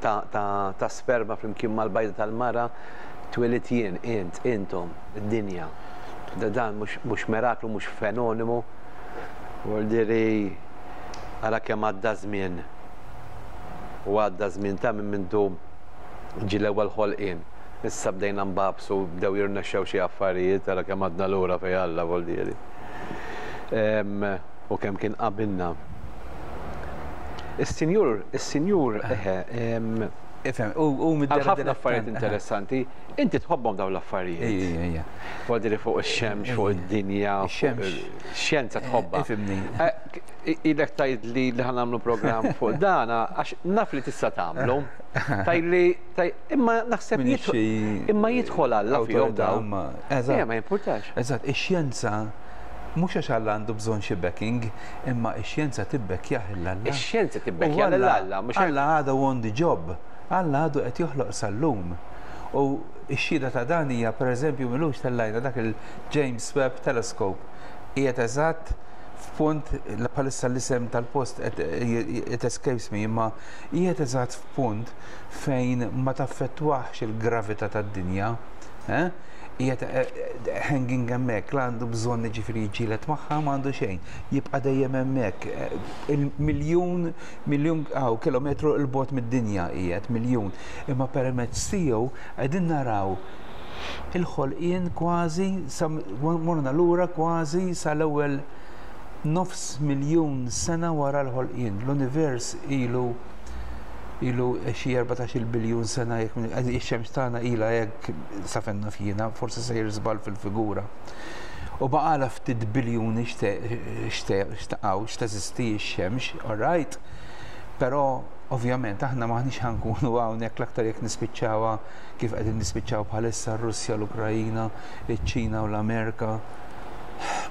ta' sperma flimkien mal-bajda tal-mara twieled jien, int, intom, id-dinja. Dan mhux miraklu, mhux fenomenu. Vuol ara kemm għadda żmien. U għadda żmien ta' minn mindu ġie l-ewwel ħolqien. Issa bdejna nbabsu, bdew jirnexxew xi affarijiet, ara kemm għadna lura fejn Alla vuol dire. U kemm kien qabilna. Is-sinjur, is-sinjur, eħe, Ifhem, u għal ħafna affarijiet interessanti, inti tħobbhom dawn l-affarijiet. Ejja, ejja. Vuol dire fuq ix-xemx, fuq id-dinja, Ix-xemx. Xjenza tħobbha. Ifhimni. Ilek tgħid li li ħa nagħmlu programm fuq dana, għax naf li tista' tagħmlu. Tgħidli, imma naħseb imma jidħol Alla fihom dawn. Eżatt. Ma jimpurtax. Eżatt, ix-xjenza mhux għax Alla għandu bżonn xi backing, imma ix-xjenza tibbekkjah lil Alla. Ix-xjenza tibbekkjah lil Alla, mhux Alla għadu on the job. Alla għadu qed joħloq sal-lum. U x-xhieda ta' dan hija pereżempju m'ilux tellajna dak il-James Webb Telescope. Qiegħed eżatt f'punt, bħalissa l-isem tal-post it escapes me, imma qiegħed eżatt f'punt fejn ma taffettwax il-gravità tad-dinja. Qiegħed hanging hemmhekk, la għandu bżonn jiġifieri jiġġieled magħha, ma għandu xejn. Jibqa' dejjem hemmhekk. Il-miljun, miljun aw kilometru 'l bogħod mid-dinja qiegħed, miljun. Imma permezz tiegħu qegħdin naraw il-ħolqien kważi, morna lura kważi sal-ewwel nofs miljun sena wara l-ħolqien. L-univers ilu ilu xi erbatax-il biljun sena, jekk ix-xemx tagħna ilha hekk sa fejn naf jiena, forsi sejjer żball fil-figura. U baqala ftit biljuni xtaqgħu x'teżisti x-xemx, all right? Però ovvjament aħna maħniex ħankunu hawnhekk l-aktar jekk nispiċċawha kif qegħdin nispiċċaw bħalissa r-Russja, l-Ukrajina, iċ-Ċina u l-Amerika.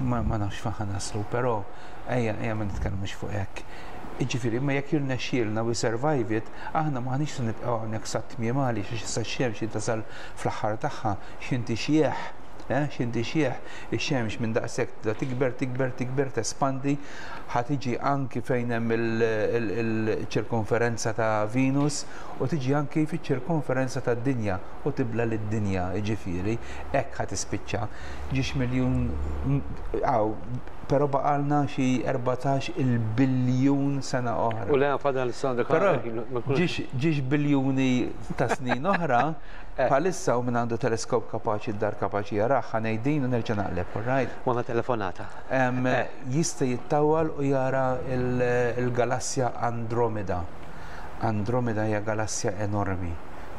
Ma nafx fejn ħa naslu, però ejja ejja ma nitkellmux fuq hekk. Jiġifieri, imma jekk jirnexxielna we survive it, aħna maħniex se nibqgħu hawnhekk sat-tmiem għaliex għax issa x-xemx tasal fl-aħħar tagħha x'inti xjieħ, x'inti xjieħ, ix-xemx minn daqshekk tibda tikber, tikber, tikber, tespandi, ħa tiġi anki fejn hemm il-ċirkonferenza ta' Venus u tiġi anki fiċ-ċirkonferenza tad-dinja u tibla lid-dinja, jiġifieri, hekk ħa tispiċċa. Ġiex miljun hawn, però baqalna xi erbatax il-biljun sena oħra. U le fadal sena. Però ġiex biljuni ta' snin oħra, bħalissa u minn għandu teleskop kapaċi d-dar kapaċi jarah, ħa ngħid u nerġa' naqleb, all right? Għandna telefonata. Jista' jittawal u jara il-galassja Andromeda. Andromeda hija galassja enormi.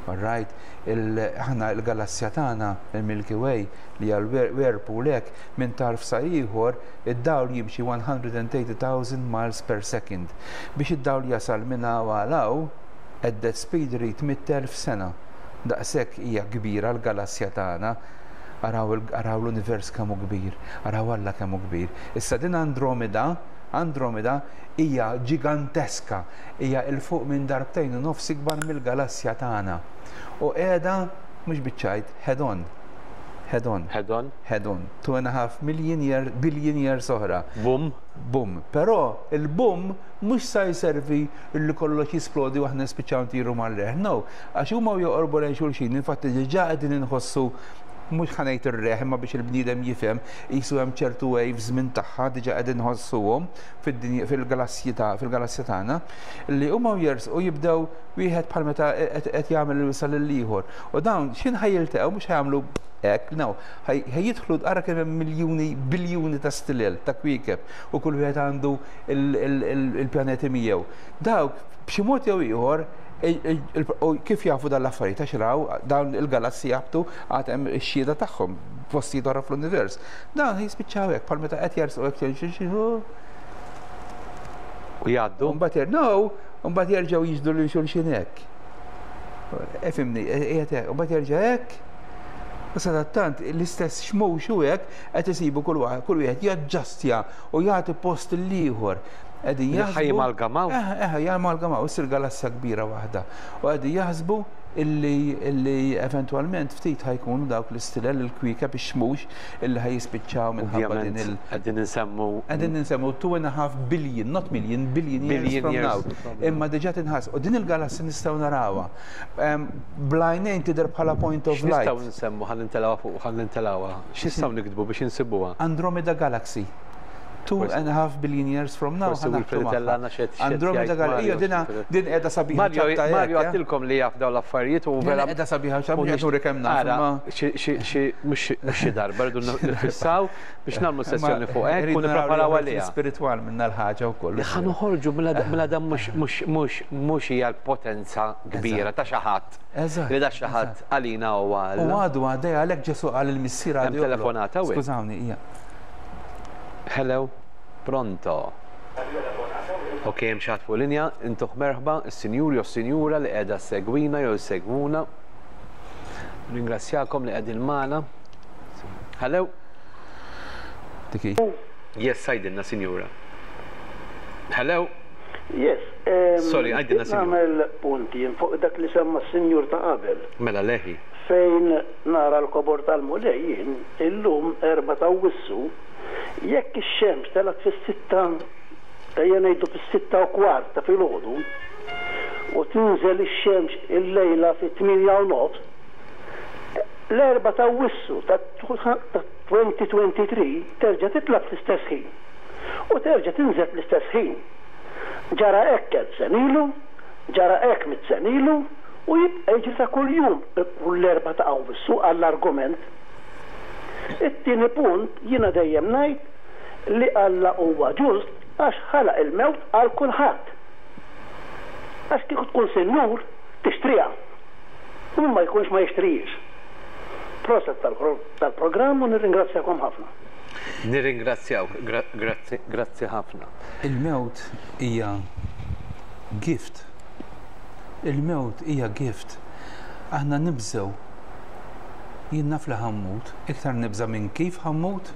All right? Aħna il-galassja tagħna, il-Milky Way, li hija l-Whirlpool hekk, minn tarf sa ieħor id-dawl jimxi one hundred and eighty thousand miles per second. Biex id-dawl jasal minn hawn għal hawn, at that speed rate mitt elf sena. Daqshekk hija kbira l-galassja tagħna. Araw l-univers kemm hu kbir, araw Alla kemm hu kbir. Issa din Andromeda, Andromeda hija ġiganteska, hija il fuq minn darbtejn u nofs ikbar mill-galassja tagħna. U qiegħda mhux biċ-ċajt, head on. Head on. Head on. Head on. Two and a half million year, billion years oħra. Boom. Boom. Però il-boom mhux sa jservi li kollox jisplodi u aħna nispiċċaw ntiru mal-reħ. No, għax huma joqorbu lejn xulxin, infatti diġà qegħdin inħossu mhux ħa ngħid ir-reħ imma biex il-bniedem jifhem, qisu hemm ċertu waves minn tagħha diġà qegħdin nħossuhom fid-dinja, fil-galassji ta', fil-galassja tagħna, li huma jersqu jibdew wieħed bħal meta qed jagħmel il-wisal lil ieħor. U dawn x'in ħajjiltaqgħu mhux ħajamlu hekk, no, ħa jidħlu, ara kemm hemm miljuni, biljuni ta' stilel, ta' kwiekeb, u kull wieħed għandu il-pjaneti miegħu. Dawk, b'xi mod jew ieħor, kif jafu dan l-affarijiet, għax raw dawn il-galassi jabtu, għad hemm ix-xhieda tagħhom postijiet oħra fl-univers. Dawn jispiċċaw hekk, bħal meta qed jersqu hekk u jgħaddu. Mbagħad no, mbagħad jerġgħu jiġdu lil xulxin hekk. Ifhimni, qiegħed hekk, u mbagħad jerġa' hekk. U sadattant l-istess xmux u hekk qed isibu kull wieħed jaġġastja u jagħti post l-ieħor. Qegħdin jaħsbu. Jamalgamaw. Eh, eh, jamalgamaw, issir galassja kbira waħda. U qegħdin jaħsbu illi illi eventwalment ftit ħa jkunu dawk l-istilel, il-kwiekeb, ix-xmux illi ħa jispiċċaw minħabba din il- Qegħdin insemmu. Qegħdin insemmu two and a half billion, not million, billion years from now. Imma diġà tinħass. U din il-galassja nistgħu narawha. Bl-għajnejn tidher bħala point of light. Nistgħu nsemmu, ħa nintelgħuha fuq, ħa nintelgħuha. X'nistgħu niktbu biex insibuha? Andromeda Galaxy. Two and a half billion years from now. Andromeda Galaxy. Dina din qiegħda sabiħa. Mario, Mario għedtilkom li jaf dawn l-affarijiet u vera. Qiegħda sabiħa x'għamlu nuri kemm naf. Xi mhux xi darba rridu nifissaw biex nagħmlu sessjoni fuq hekk u nippreparaw għaliha. Spiritwal minna l-ħaġa wkoll. Ħa noħorġu mela dan mhux mhux mhux hija l-potenza kbira ta' xi ħadd. Li da xi ħadd għalina huwa. U għadu għaddej għalhekk Ġesu qal il-missier għadu. Telefonata. Skużawni, hija. Hello. Pronto. Ok, hemm xi ħadd fuq linja, intuh merħba, is-sinjur jew sinjura li qiegħda segwina jew segwuna. Ringrazzjakom li qegħdin magħna. Hello. Diki. Yes, għidilna sinjura. Hello. Yes. Sorry, għidilna sinjura. Nagħmel punti fuq dak li semma s-sinjur ta' qabel. Mela leħi. Fejn nara l-kobor tal-Mulej jien illum erba' ta' Awwissu, jekk ix-xemx telgħet fis-sitta, ejja ngħidu fis-sitta u kwart ta' filgħodu, u tinżel ix-xemx illejla fit-tmienja u nofs, l-erba' ta' Awwissu ta' elfejn u tnejn u għoxrin terġa' titla' fl-istess ħin u terġa' tinżel fl-istess ħin. Ġara hekk elf sena ilu, ġara hekk mitt sena ilu, u jibqa' jiġri ta' kuljum kull l-erba' ta' Awwissu għall-argument. It-tieni punt, jiena dejjem ngħid li Alla huwa ġust għax ħalaq il-mewt għal kulħadd. Għax kieku tkun sinjur tixtriha. U min ma jkunx ma jixtrijiex. Proset tal-programm u nirringrazzjakom ħafna. Nirringrazzjawk, grazzi, grazzi ħafna. Il-mewt hija gift. Il-mewt hija gift. Aħna nibżgħu. Jien naf li ħa mmut, iktar nibża' minn kif ħa mmut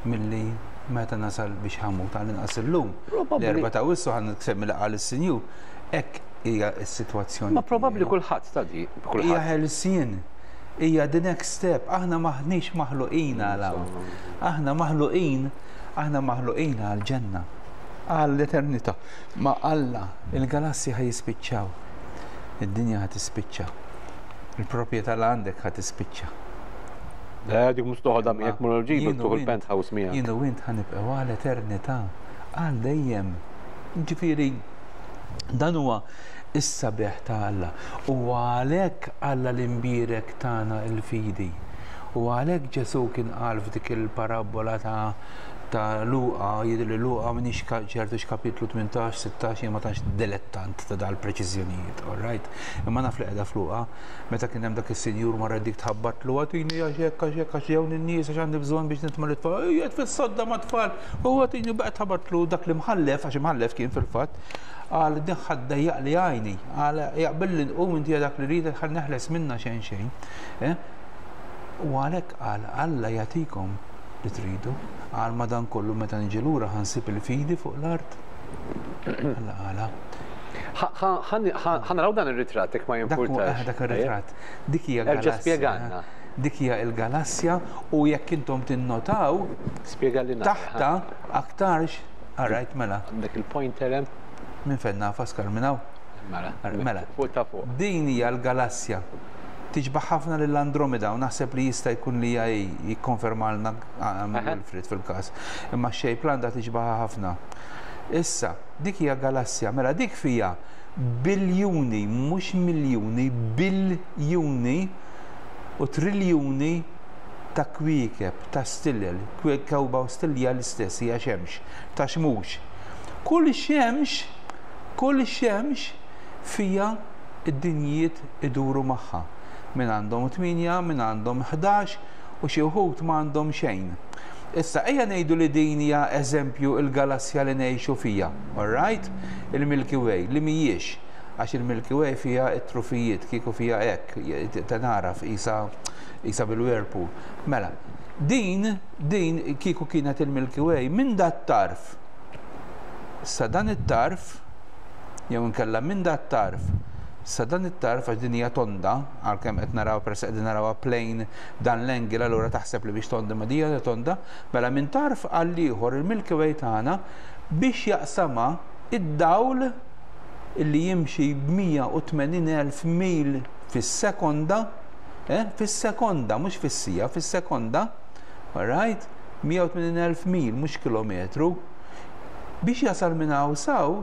milli meta nasal biex ħa mmut, għal inqas illum. L-erba' ta' Awwissu ħa nsemmi li qal is-sinjur. Hekk hija s-sitwazzjoni. Ma probabbli kulħadd tadi. Hija ħelsien. Hija the next step. Aħna maħniex maħluqin għal hawn. Aħna maħluqin, aħna maħluqin għal ġenna. Għall-eternità. Ma Alla, il-galassi ħa jispiċċaw. Id-dinja ħa tispiċċa. Il-proprjetà li għandek ħa tispiċċa. Eh, dik mhux toħodha miegħek, mur ġibu tuħu l-penthouse miegħek. Jien u int ħa nibqgħu għal eternità, għal dejjem. Ġifieri dan huwa is-sabiħ ta' Alla. U għalhekk Alla l-imbierek tana il-fidi. U għalhekk Ġesu kien qal f'dik il-parabola ta' ta' Luqa, jidher li Luqa, minix ċertu x'kapitlu, tmintax, sittax, jien ma tantx dilettant ta' dal-preċiżjonijiet, all right? Imma naf li qiegħda f'Luqa, meta kien hemm dak is-sinjur marra dik tħabbatlu, "Agħtini għax hekk, għax hekk, għax ġewni n-nies, għax għandi bżonn biex nitma' lit-tfal, qiegħed fis-sodda mat-tfal, u agħtini", baqgħet tħabbatlu. Dak li mħallef, għax imħallef kien fil-fatt, qal, "Din ħa ddejjaqli għajni", qal, "jaqbilli nqum inti dak li rrid ħa neħles minna xejn xejn." Eh? U għalhekk qal, "Alla jagħtikom li tridu." Qal, "Madankollu meta niġi lura ħa nsib il-fidi fuq l-art?" Alla qala. Ħa naraw dan ir-ritratt jekk ma jimpurtax. Dak ir-ritratt. Dik hija Erġa' spjegalna. Dik hija il-galassja u jekk intom tinnotaw Spjegalli. Taħta aktarx, alright, mela. Għandek il-pointer hemm. Minn fejn naf, Pascal, minn hawn? Mela. Mela. Fuq ta' fuq. Din hija l-galassja. Tixbaħ ħafna lill-Andromeda u naħseb li jista' jkun li hija, jikkonfermalna Wilfrid fil-każ. Imma x-shape għandha tixbaħ ħafna. Issa, dik hija galassja, mela dik fija biljuni, mhux miljuni, biljuni u triljuni ta' kwiekeb, ta' stillel, kewba u stillja l-istess hija xemx, ta' xmux. Kull xemx, kull xemx fija id-dinjiet iduru magħha. Min għandhom tmienja, min għandhom ħdax u xi wħud ma għandhom xejn. Issa, ejja ngħidu li din hija eżempju il-galassja li ngħixu fija, all right? Il-Milky Way, li mhijiex, għax il-Milky Way fija it-trufijiet, kieku fija hekk, tanaraf isa isa bil-whirlpool. Mela, din, din kieku kienet il-Milky Way, minn dat tarf, sa dan it-tarf, jew inkella minn dat tarf, sa dan it-tarf, għax din hija tonda, għalkemm qed naraw peress qegħdin narawha plane dan l-angle, allura taħseb li biex tonda ma dija tonda, mela minn tarf għal ieħor il-Milky Way tagħna biex jaqsama id-dawl illi jimxi b'mija u tmenin elf mil fis-sekonda, eh, fis-sekonda, mhux fis-sija, fis-sekonda, all right, mija u tmenin elf mil, mhux kilometru, biex jasal minn hawn saw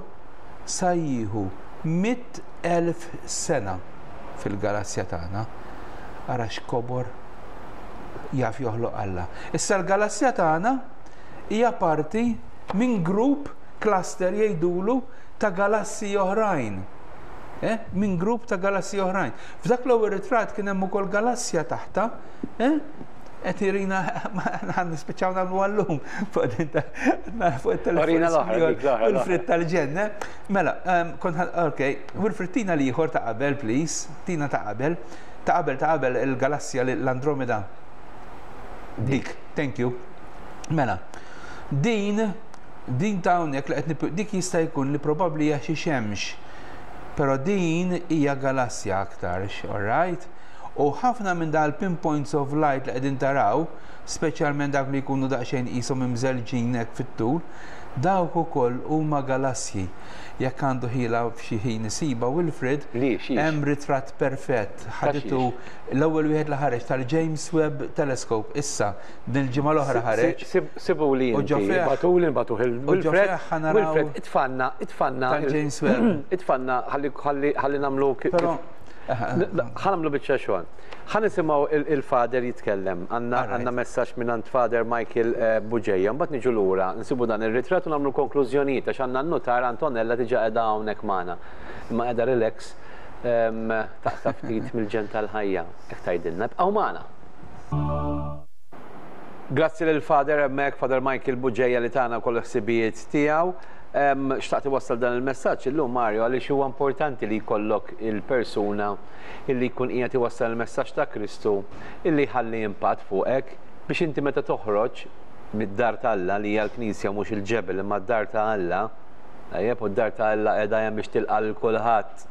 sa jieħu mitt elf sena fil-galassja tagħna. Ara x'kobor jaf joħloq Alla. Issa l-galassja tagħna hija parti minn grupp cluster jgħidulu ta' galassi oħrajn. Eh? Minn grupp ta' galassi oħrajn. F'dak l-ewwel ritratt kien hemm ukoll galassja taħta, eh? Qed irina ħan nispiċċaw nagħmlu għallum fuq din ta' fuq it-telefon. Orina l-oħra, dik l-oħra, l-oħra. Wilfrid tal-ġenna. Mela, ehm, kont ħan, ok, Wilfrid tina li ieħor ta' qabel, please, tina ta' qabel, ta' qabel, ta' qabel il-galassja l-Andromeda. Dik, thank you. Mela, din, din ta' hawnhekk li qed nip-, dik jista' jkun li probabbli hija xi xemx, però din hija galassja aktarx, all right? U ħafna minn dal pinpoints of light li qegħdin taraw, speċjalment dak li jkunu daqsxejn qishom imżelġin hekk fit-tul, dawk ukoll huma galassji. Jekk għandu ħila f'xi ħin isiba Wilfrid, Li, xiex? hemm ritratt perfett. Ta' Ħaditu xiex? l-ewwel wieħed li ħareġ tal-James Webb Telescope issa din il-ġimgħa l-oħra ħareġ. Sibu li U inti, ġo fih- batuli, batuh il- u ġo Wilfred, fih ħa naraw Wilfred, itfanna, itfanna il- tal-James Webb. Itfanna, ħalli, ħalli, ħalli nagħmlu ki- Però ħa nagħmlu biċċa xogħol. Ħa nisimgħu il-Father jitkellem. Għandna Alright. għandna messaġġ minn Father Michael eh, Bugeja. Mbagħad niġu lura, nsibu dan ir-ritratt u nagħmlu konklużjonijiet għax għandna n-nutar Antonella diġà qiegħda hawnhekk magħna. Imma qiegħda relax ehm, taqta' ftit mill-ġen tal-ħajja. Hekk tgħidilna. Ibqgħu magħna. Grazzi lil Father hemmhekk, Father Michael Bugeja li tana kull ħsibijiet tiegħu. Em, Xtaqt iwassal dan il-messaġġ illum Mario għaliex huwa importanti li jkollok il-persuna illi jkun qiegħed iwassal il-messaġġ ta' Kristu illi jħalli impatt fuqek biex inti meta toħroġ mid-dar ta' Alla li hija l-Knisja mhux il-ġebel imma d-dar ta' Alla, tajjeb, u d-dar ta' Alla qiegħda hemm biex tilqa' lil kulħadd.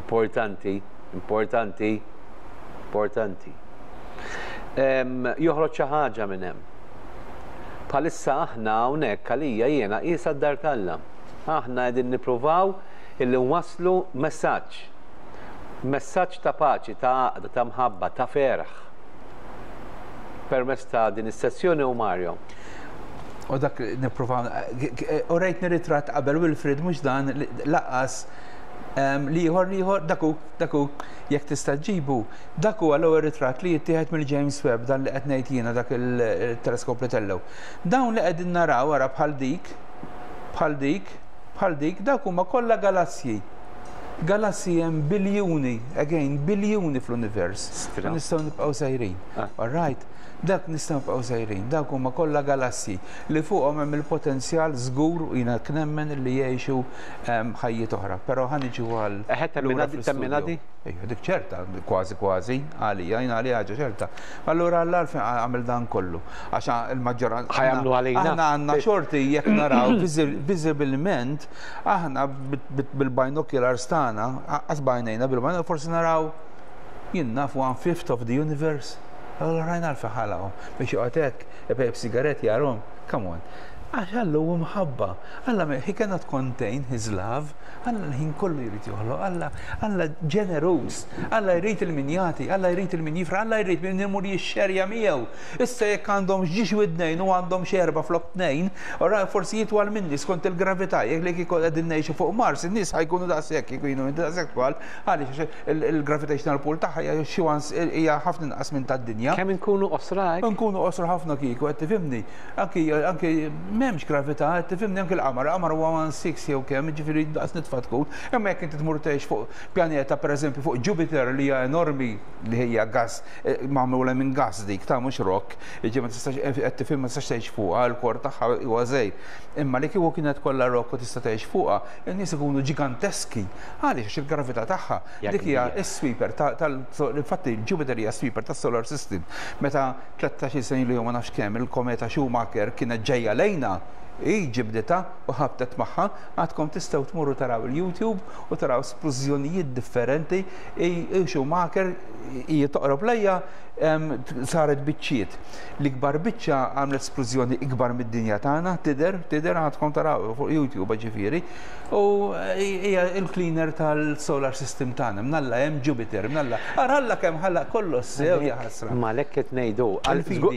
Importanti, importanti, importanti. Em, joħroġ xi ħaġa minn hemm. Bħalissa aħna hawnhekk għalija jiena qisha d-dar t'Alla. Aħna qegħdin nippruvaw illi nwasslu messaġġ. Messaġġ ta' paċi, ta' għaqda, ta' mħabba, ta' ferħ. Permezz ta' din is-sessjoni u Mario. U dak nipprova, u rejtni ritratt qabel Wilfrid, mhux dan, laqas liħor, liħor, daku, daku, jekk tista' ġibu, dak huwa l-ewwel ritratt li jittieħed mill-James Webb, dan li qed ngħid jiena, dak il-teleskop li tellgħu. Dawn li qegħdin naraw wara bħal dik, bħal dik, bħal dik, dak huma kollha galassji. Galassji hemm biljuni, again, biljuni fl-univers. Stra. Nistgħu nibqgħu sejrin. Ah. All right? Dak nistgħu nibqgħu sejrin, dak huma kollha galassji li fuqhom hemm il-potenzjal żgur u jiena nemmen li jgħixu ehm, ħajjiet oħra. Però ħa niġu għal Eħe, lura temmina di- fl-istudio. temmina di? Ejja, dik ċerta, kważi kważi, għalija, jien għalija ħaġa ċerta. Allura Alla għalfejn għamel dan kollu. Għax il-maġġoranza. Ħa jagħmlu għalina. Aħna għandna xorti jekk naraw viżibilment, aħna bil-binoculars tagħna, qas bajnejna bil-binoculars, forsi naraw jien naf one fifth of the universe. Allora rajna għalfejn ħalaqhom biex joqgħod hekk, ipejjep sigaret jarhom, come on. Għax Alla hu mħabba. Alla he cannot contain his love. Alla l-ħin kollu jrid joħloq. Alla Alla ġeneruż. Alla jrid lil min jagħti, Alla jrid lil min jifraħ, Alla jrid min imur jixxerja miegħu. Issa jekk għandhom żewġ widnejn u għandhom xi erba' flok tnejn, ora forsi jitwal minni skont il-gravità, jekk li kieku qegħdin ngħixu fuq Mars, in-nies ħa jkunu daqshekk, jkunu daqshekk twal, għaliex il-gravitational pull tagħha hija xi hija ħafna inqas minn tad-dinja. Kemm inkunu qosra hekk? Nkunu qosra ħafna kieku, qed tifhimni. Anki anki m'hemmx gravità, qed tifhimni anki l-qamar, l-qamar huwa one six jew kemm, ġifieri daqs nitfa tkun. Imma jekk inti tmur tgħix fuq pjaneta, pereżempju fuq Jupiter li hija enormi, li hija gas, eh, magħmula minn gas dik ta' mhux rock, jiġi ma tistax, qed tifhem, ma tistax tgħix fuqha, l-core tagħha huwa żgħir. Imma li kieku kienet kollha rock u tista' tgħix fuqha, in-nies ikunu ġiganteski. Għaliex? Għax il-gravità tagħha dik hija s-sweeper tal infatti Jupiter hija sweeper tas-solar system. Meta tlettax-il sena li ma nafx kemm il-kometa Schumacher kienet ġejja lejna, i ġibditha u ħabtet magħha, għadkom tistgħu tmurru taraw il-YouTube u taraw splużjonijiet differenti, i Schumacher hija toqrob lejha saret biċċiet. L-ikbar biċċa għamlet splużjoni ikbar mid-dinja tagħna, tidher, tidher għadkom taraw fuq YouTube ġifieri. U hija il-cleaner tal-solar system tagħna, mnalla hemm Jupiter, mnalla. Ara Alla kemm ħalaq kollox sew, ja ħasra. Ma lek qed ngħidu,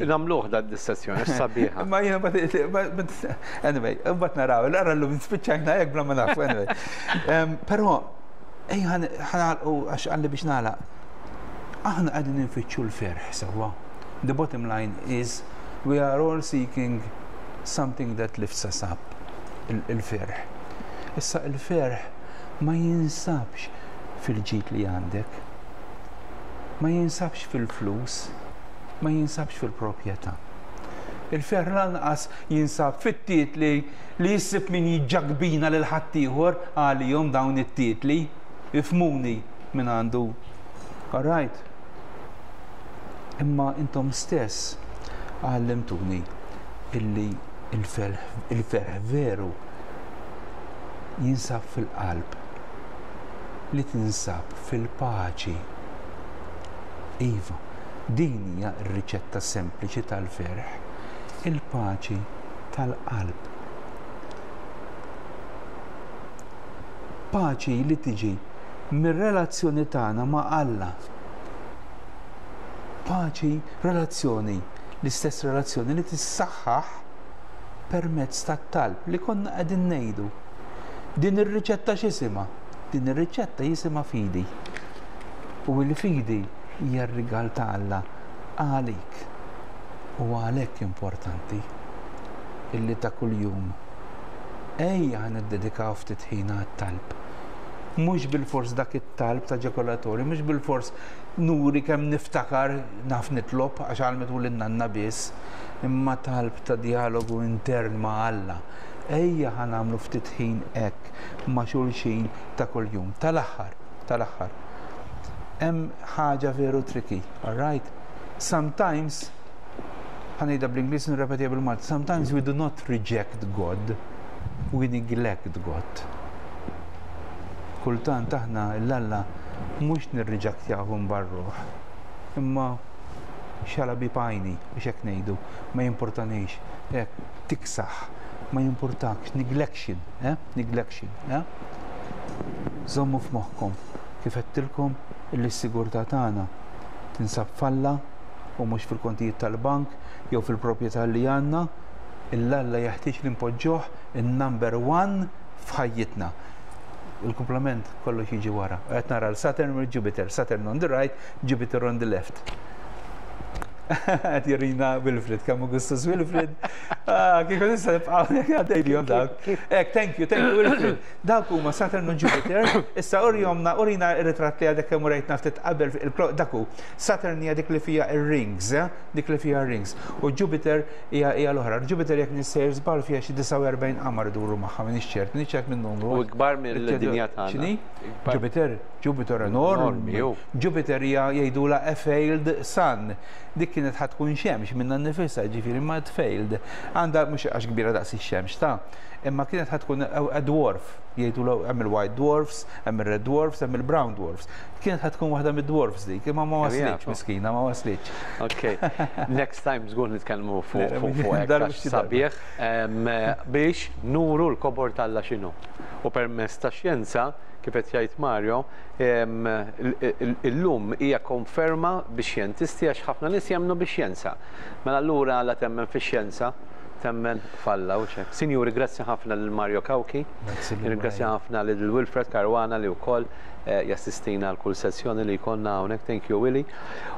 nagħmluh dan dis-sessjoni sabiħa. Ma jiena, anyway, mbagħad naraw, ara llum spiċċajna hekk bla ma nafu, anyway. Però ejja ħa nagħlqu għax għalli biex nagħlaq. Aħna qegħdin nfittxu l-ferħ sewwa. The bottom line is we are all seeking something that lifts us up, il-ferħ. Issa il-ferħ ma jinsabx fil-ġid li għandek, ma jinsabx fil-flus, ma jinsabx fil-proprjetà. Il-ferħ lanqas jinsab fit-titli li jissib min jiġġagbina lil ħaddieħor għalihom dawn it-titli, ifhmuni minn għandu. All right. Imma intom stess għallimtuni illi il-ferħ veru jinsab fil-qalb li tinsab fil-paċi. Iva, din hija r-riċetta sempliċi tal-ferħ, il-paċi tal-qalb. Paċi li tiġi mir-relazzjoni tagħna ma' Alla. Paċi, relazzjoni, l-istess relazzjoni li tissaħħaħ permezz tat-talb li konna qegħdin ngħidu. Din ir-riċetta x'isimha? Din ir-riċetta jisimha fidi. U l-fidi hija r-rigal ta' Alla għalik. U għalhekk importanti illi ta' kuljum ejja ħa niddedikaw ftit ħin għat-talb. Mhux bilfors dak it-talb ta' ġekolatori, mhux bilfors nuri kemm niftakar naf nitlob għax għallmitu lin-nanna biss, imma talb ta' dialogu intern ma' Alla. Ejja ħa nagħmlu ftit ħin hekk ma' xulxin ta' kuljum. Tal-aħħar, tal-aħħar. Hemm ħaġa veru tricky, all right? Sometimes, ħa ngħidha bl-Ingliż, nirrepetiha bil-Malti, sometimes we do not reject God, we neglect God. Kultant aħna l-Alla mhux nirriġaktjahu barruh, imma xala bi pajni, biex hekk ngħidu, ma jimportanix, hekk tiksaħ, ma jimportakx, neglection, eh? Neglection, eh? Żommu f'moħħkom kif għedtilkom illi s-sigurtà tagħna tinsab f'Alla u mhux fil-kontijiet tal-bank jew fil-proprjetà li għandna. Il-Alla jeħtieġ li npoġġuh in-number one f'ħajjitna. Il-komplement kollox jiġi wara. Qed nara l-Saturn u l-Jupiter, Saturn on the right, Jupiter on the left. Qed jurina Wilfred, kemm Augustus Wilfred. Ah, kieku nista' nibqgħu għaddejlihom dawk. Ek, thank you, thank you Wilfred. Dawk huma Saturn u Jupiter. Issa urjomna, urina ir-ritratt li għadek kemm urejtna ftit qabel, dak hu. Saturn hija dik li fija ir-rings, eh? Dik li fija rings. U Jupiter hija hija l-oħra. Jupiter, jekk nissejjer żball, fija xi disgħa u erbgħin qamar iduru magħha, minn ċert, minn ċert minn numru. U ikbar mill-dinja tagħna. X'inhi? Jupiter, Jupiter enormi. Jupiter hija jgħidula a failed sun. Dik kienet ħa tkun xemx minna nifisha, ġifieri ma failed. Għandha mhux għax kbira daqs ix-xemx ta' Imma kienet ħa tkun a dwarf, jgħidu hemm il-white dwarfs, hemm il-red dwarfs, hemm il-brown dwarfs. Kienet ħa tkun waħda mid-dwarfs dik, imma ma waslitx, miskina, ma waslitx. Ok, next time żgur nitkellmu fuq fuq sabiħ biex nuru l-kobor t'Alla x'inhu. U permezz ta' xjenza, kif qed jgħid Mario, illum hija konferma bix-xjentisti, għax ħafna nies jemmnu bix-xjenza. Mela allura la temmen fix-xjenza, temmen f'Alla u ċek. Sinjuri, grazzi ħafna lil Mario Cauchi, grazzi ħafna lil Wilfred Caruana li wkoll eh, jassistina għal kull sessjoni li jkollna hawnhekk. Thank you, Willy.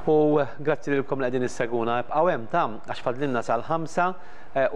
U grazzi lilkom li qegħdin issegwuna. Ibqgħu hemm tam għax fadlilna sal-ħamsa. Eh,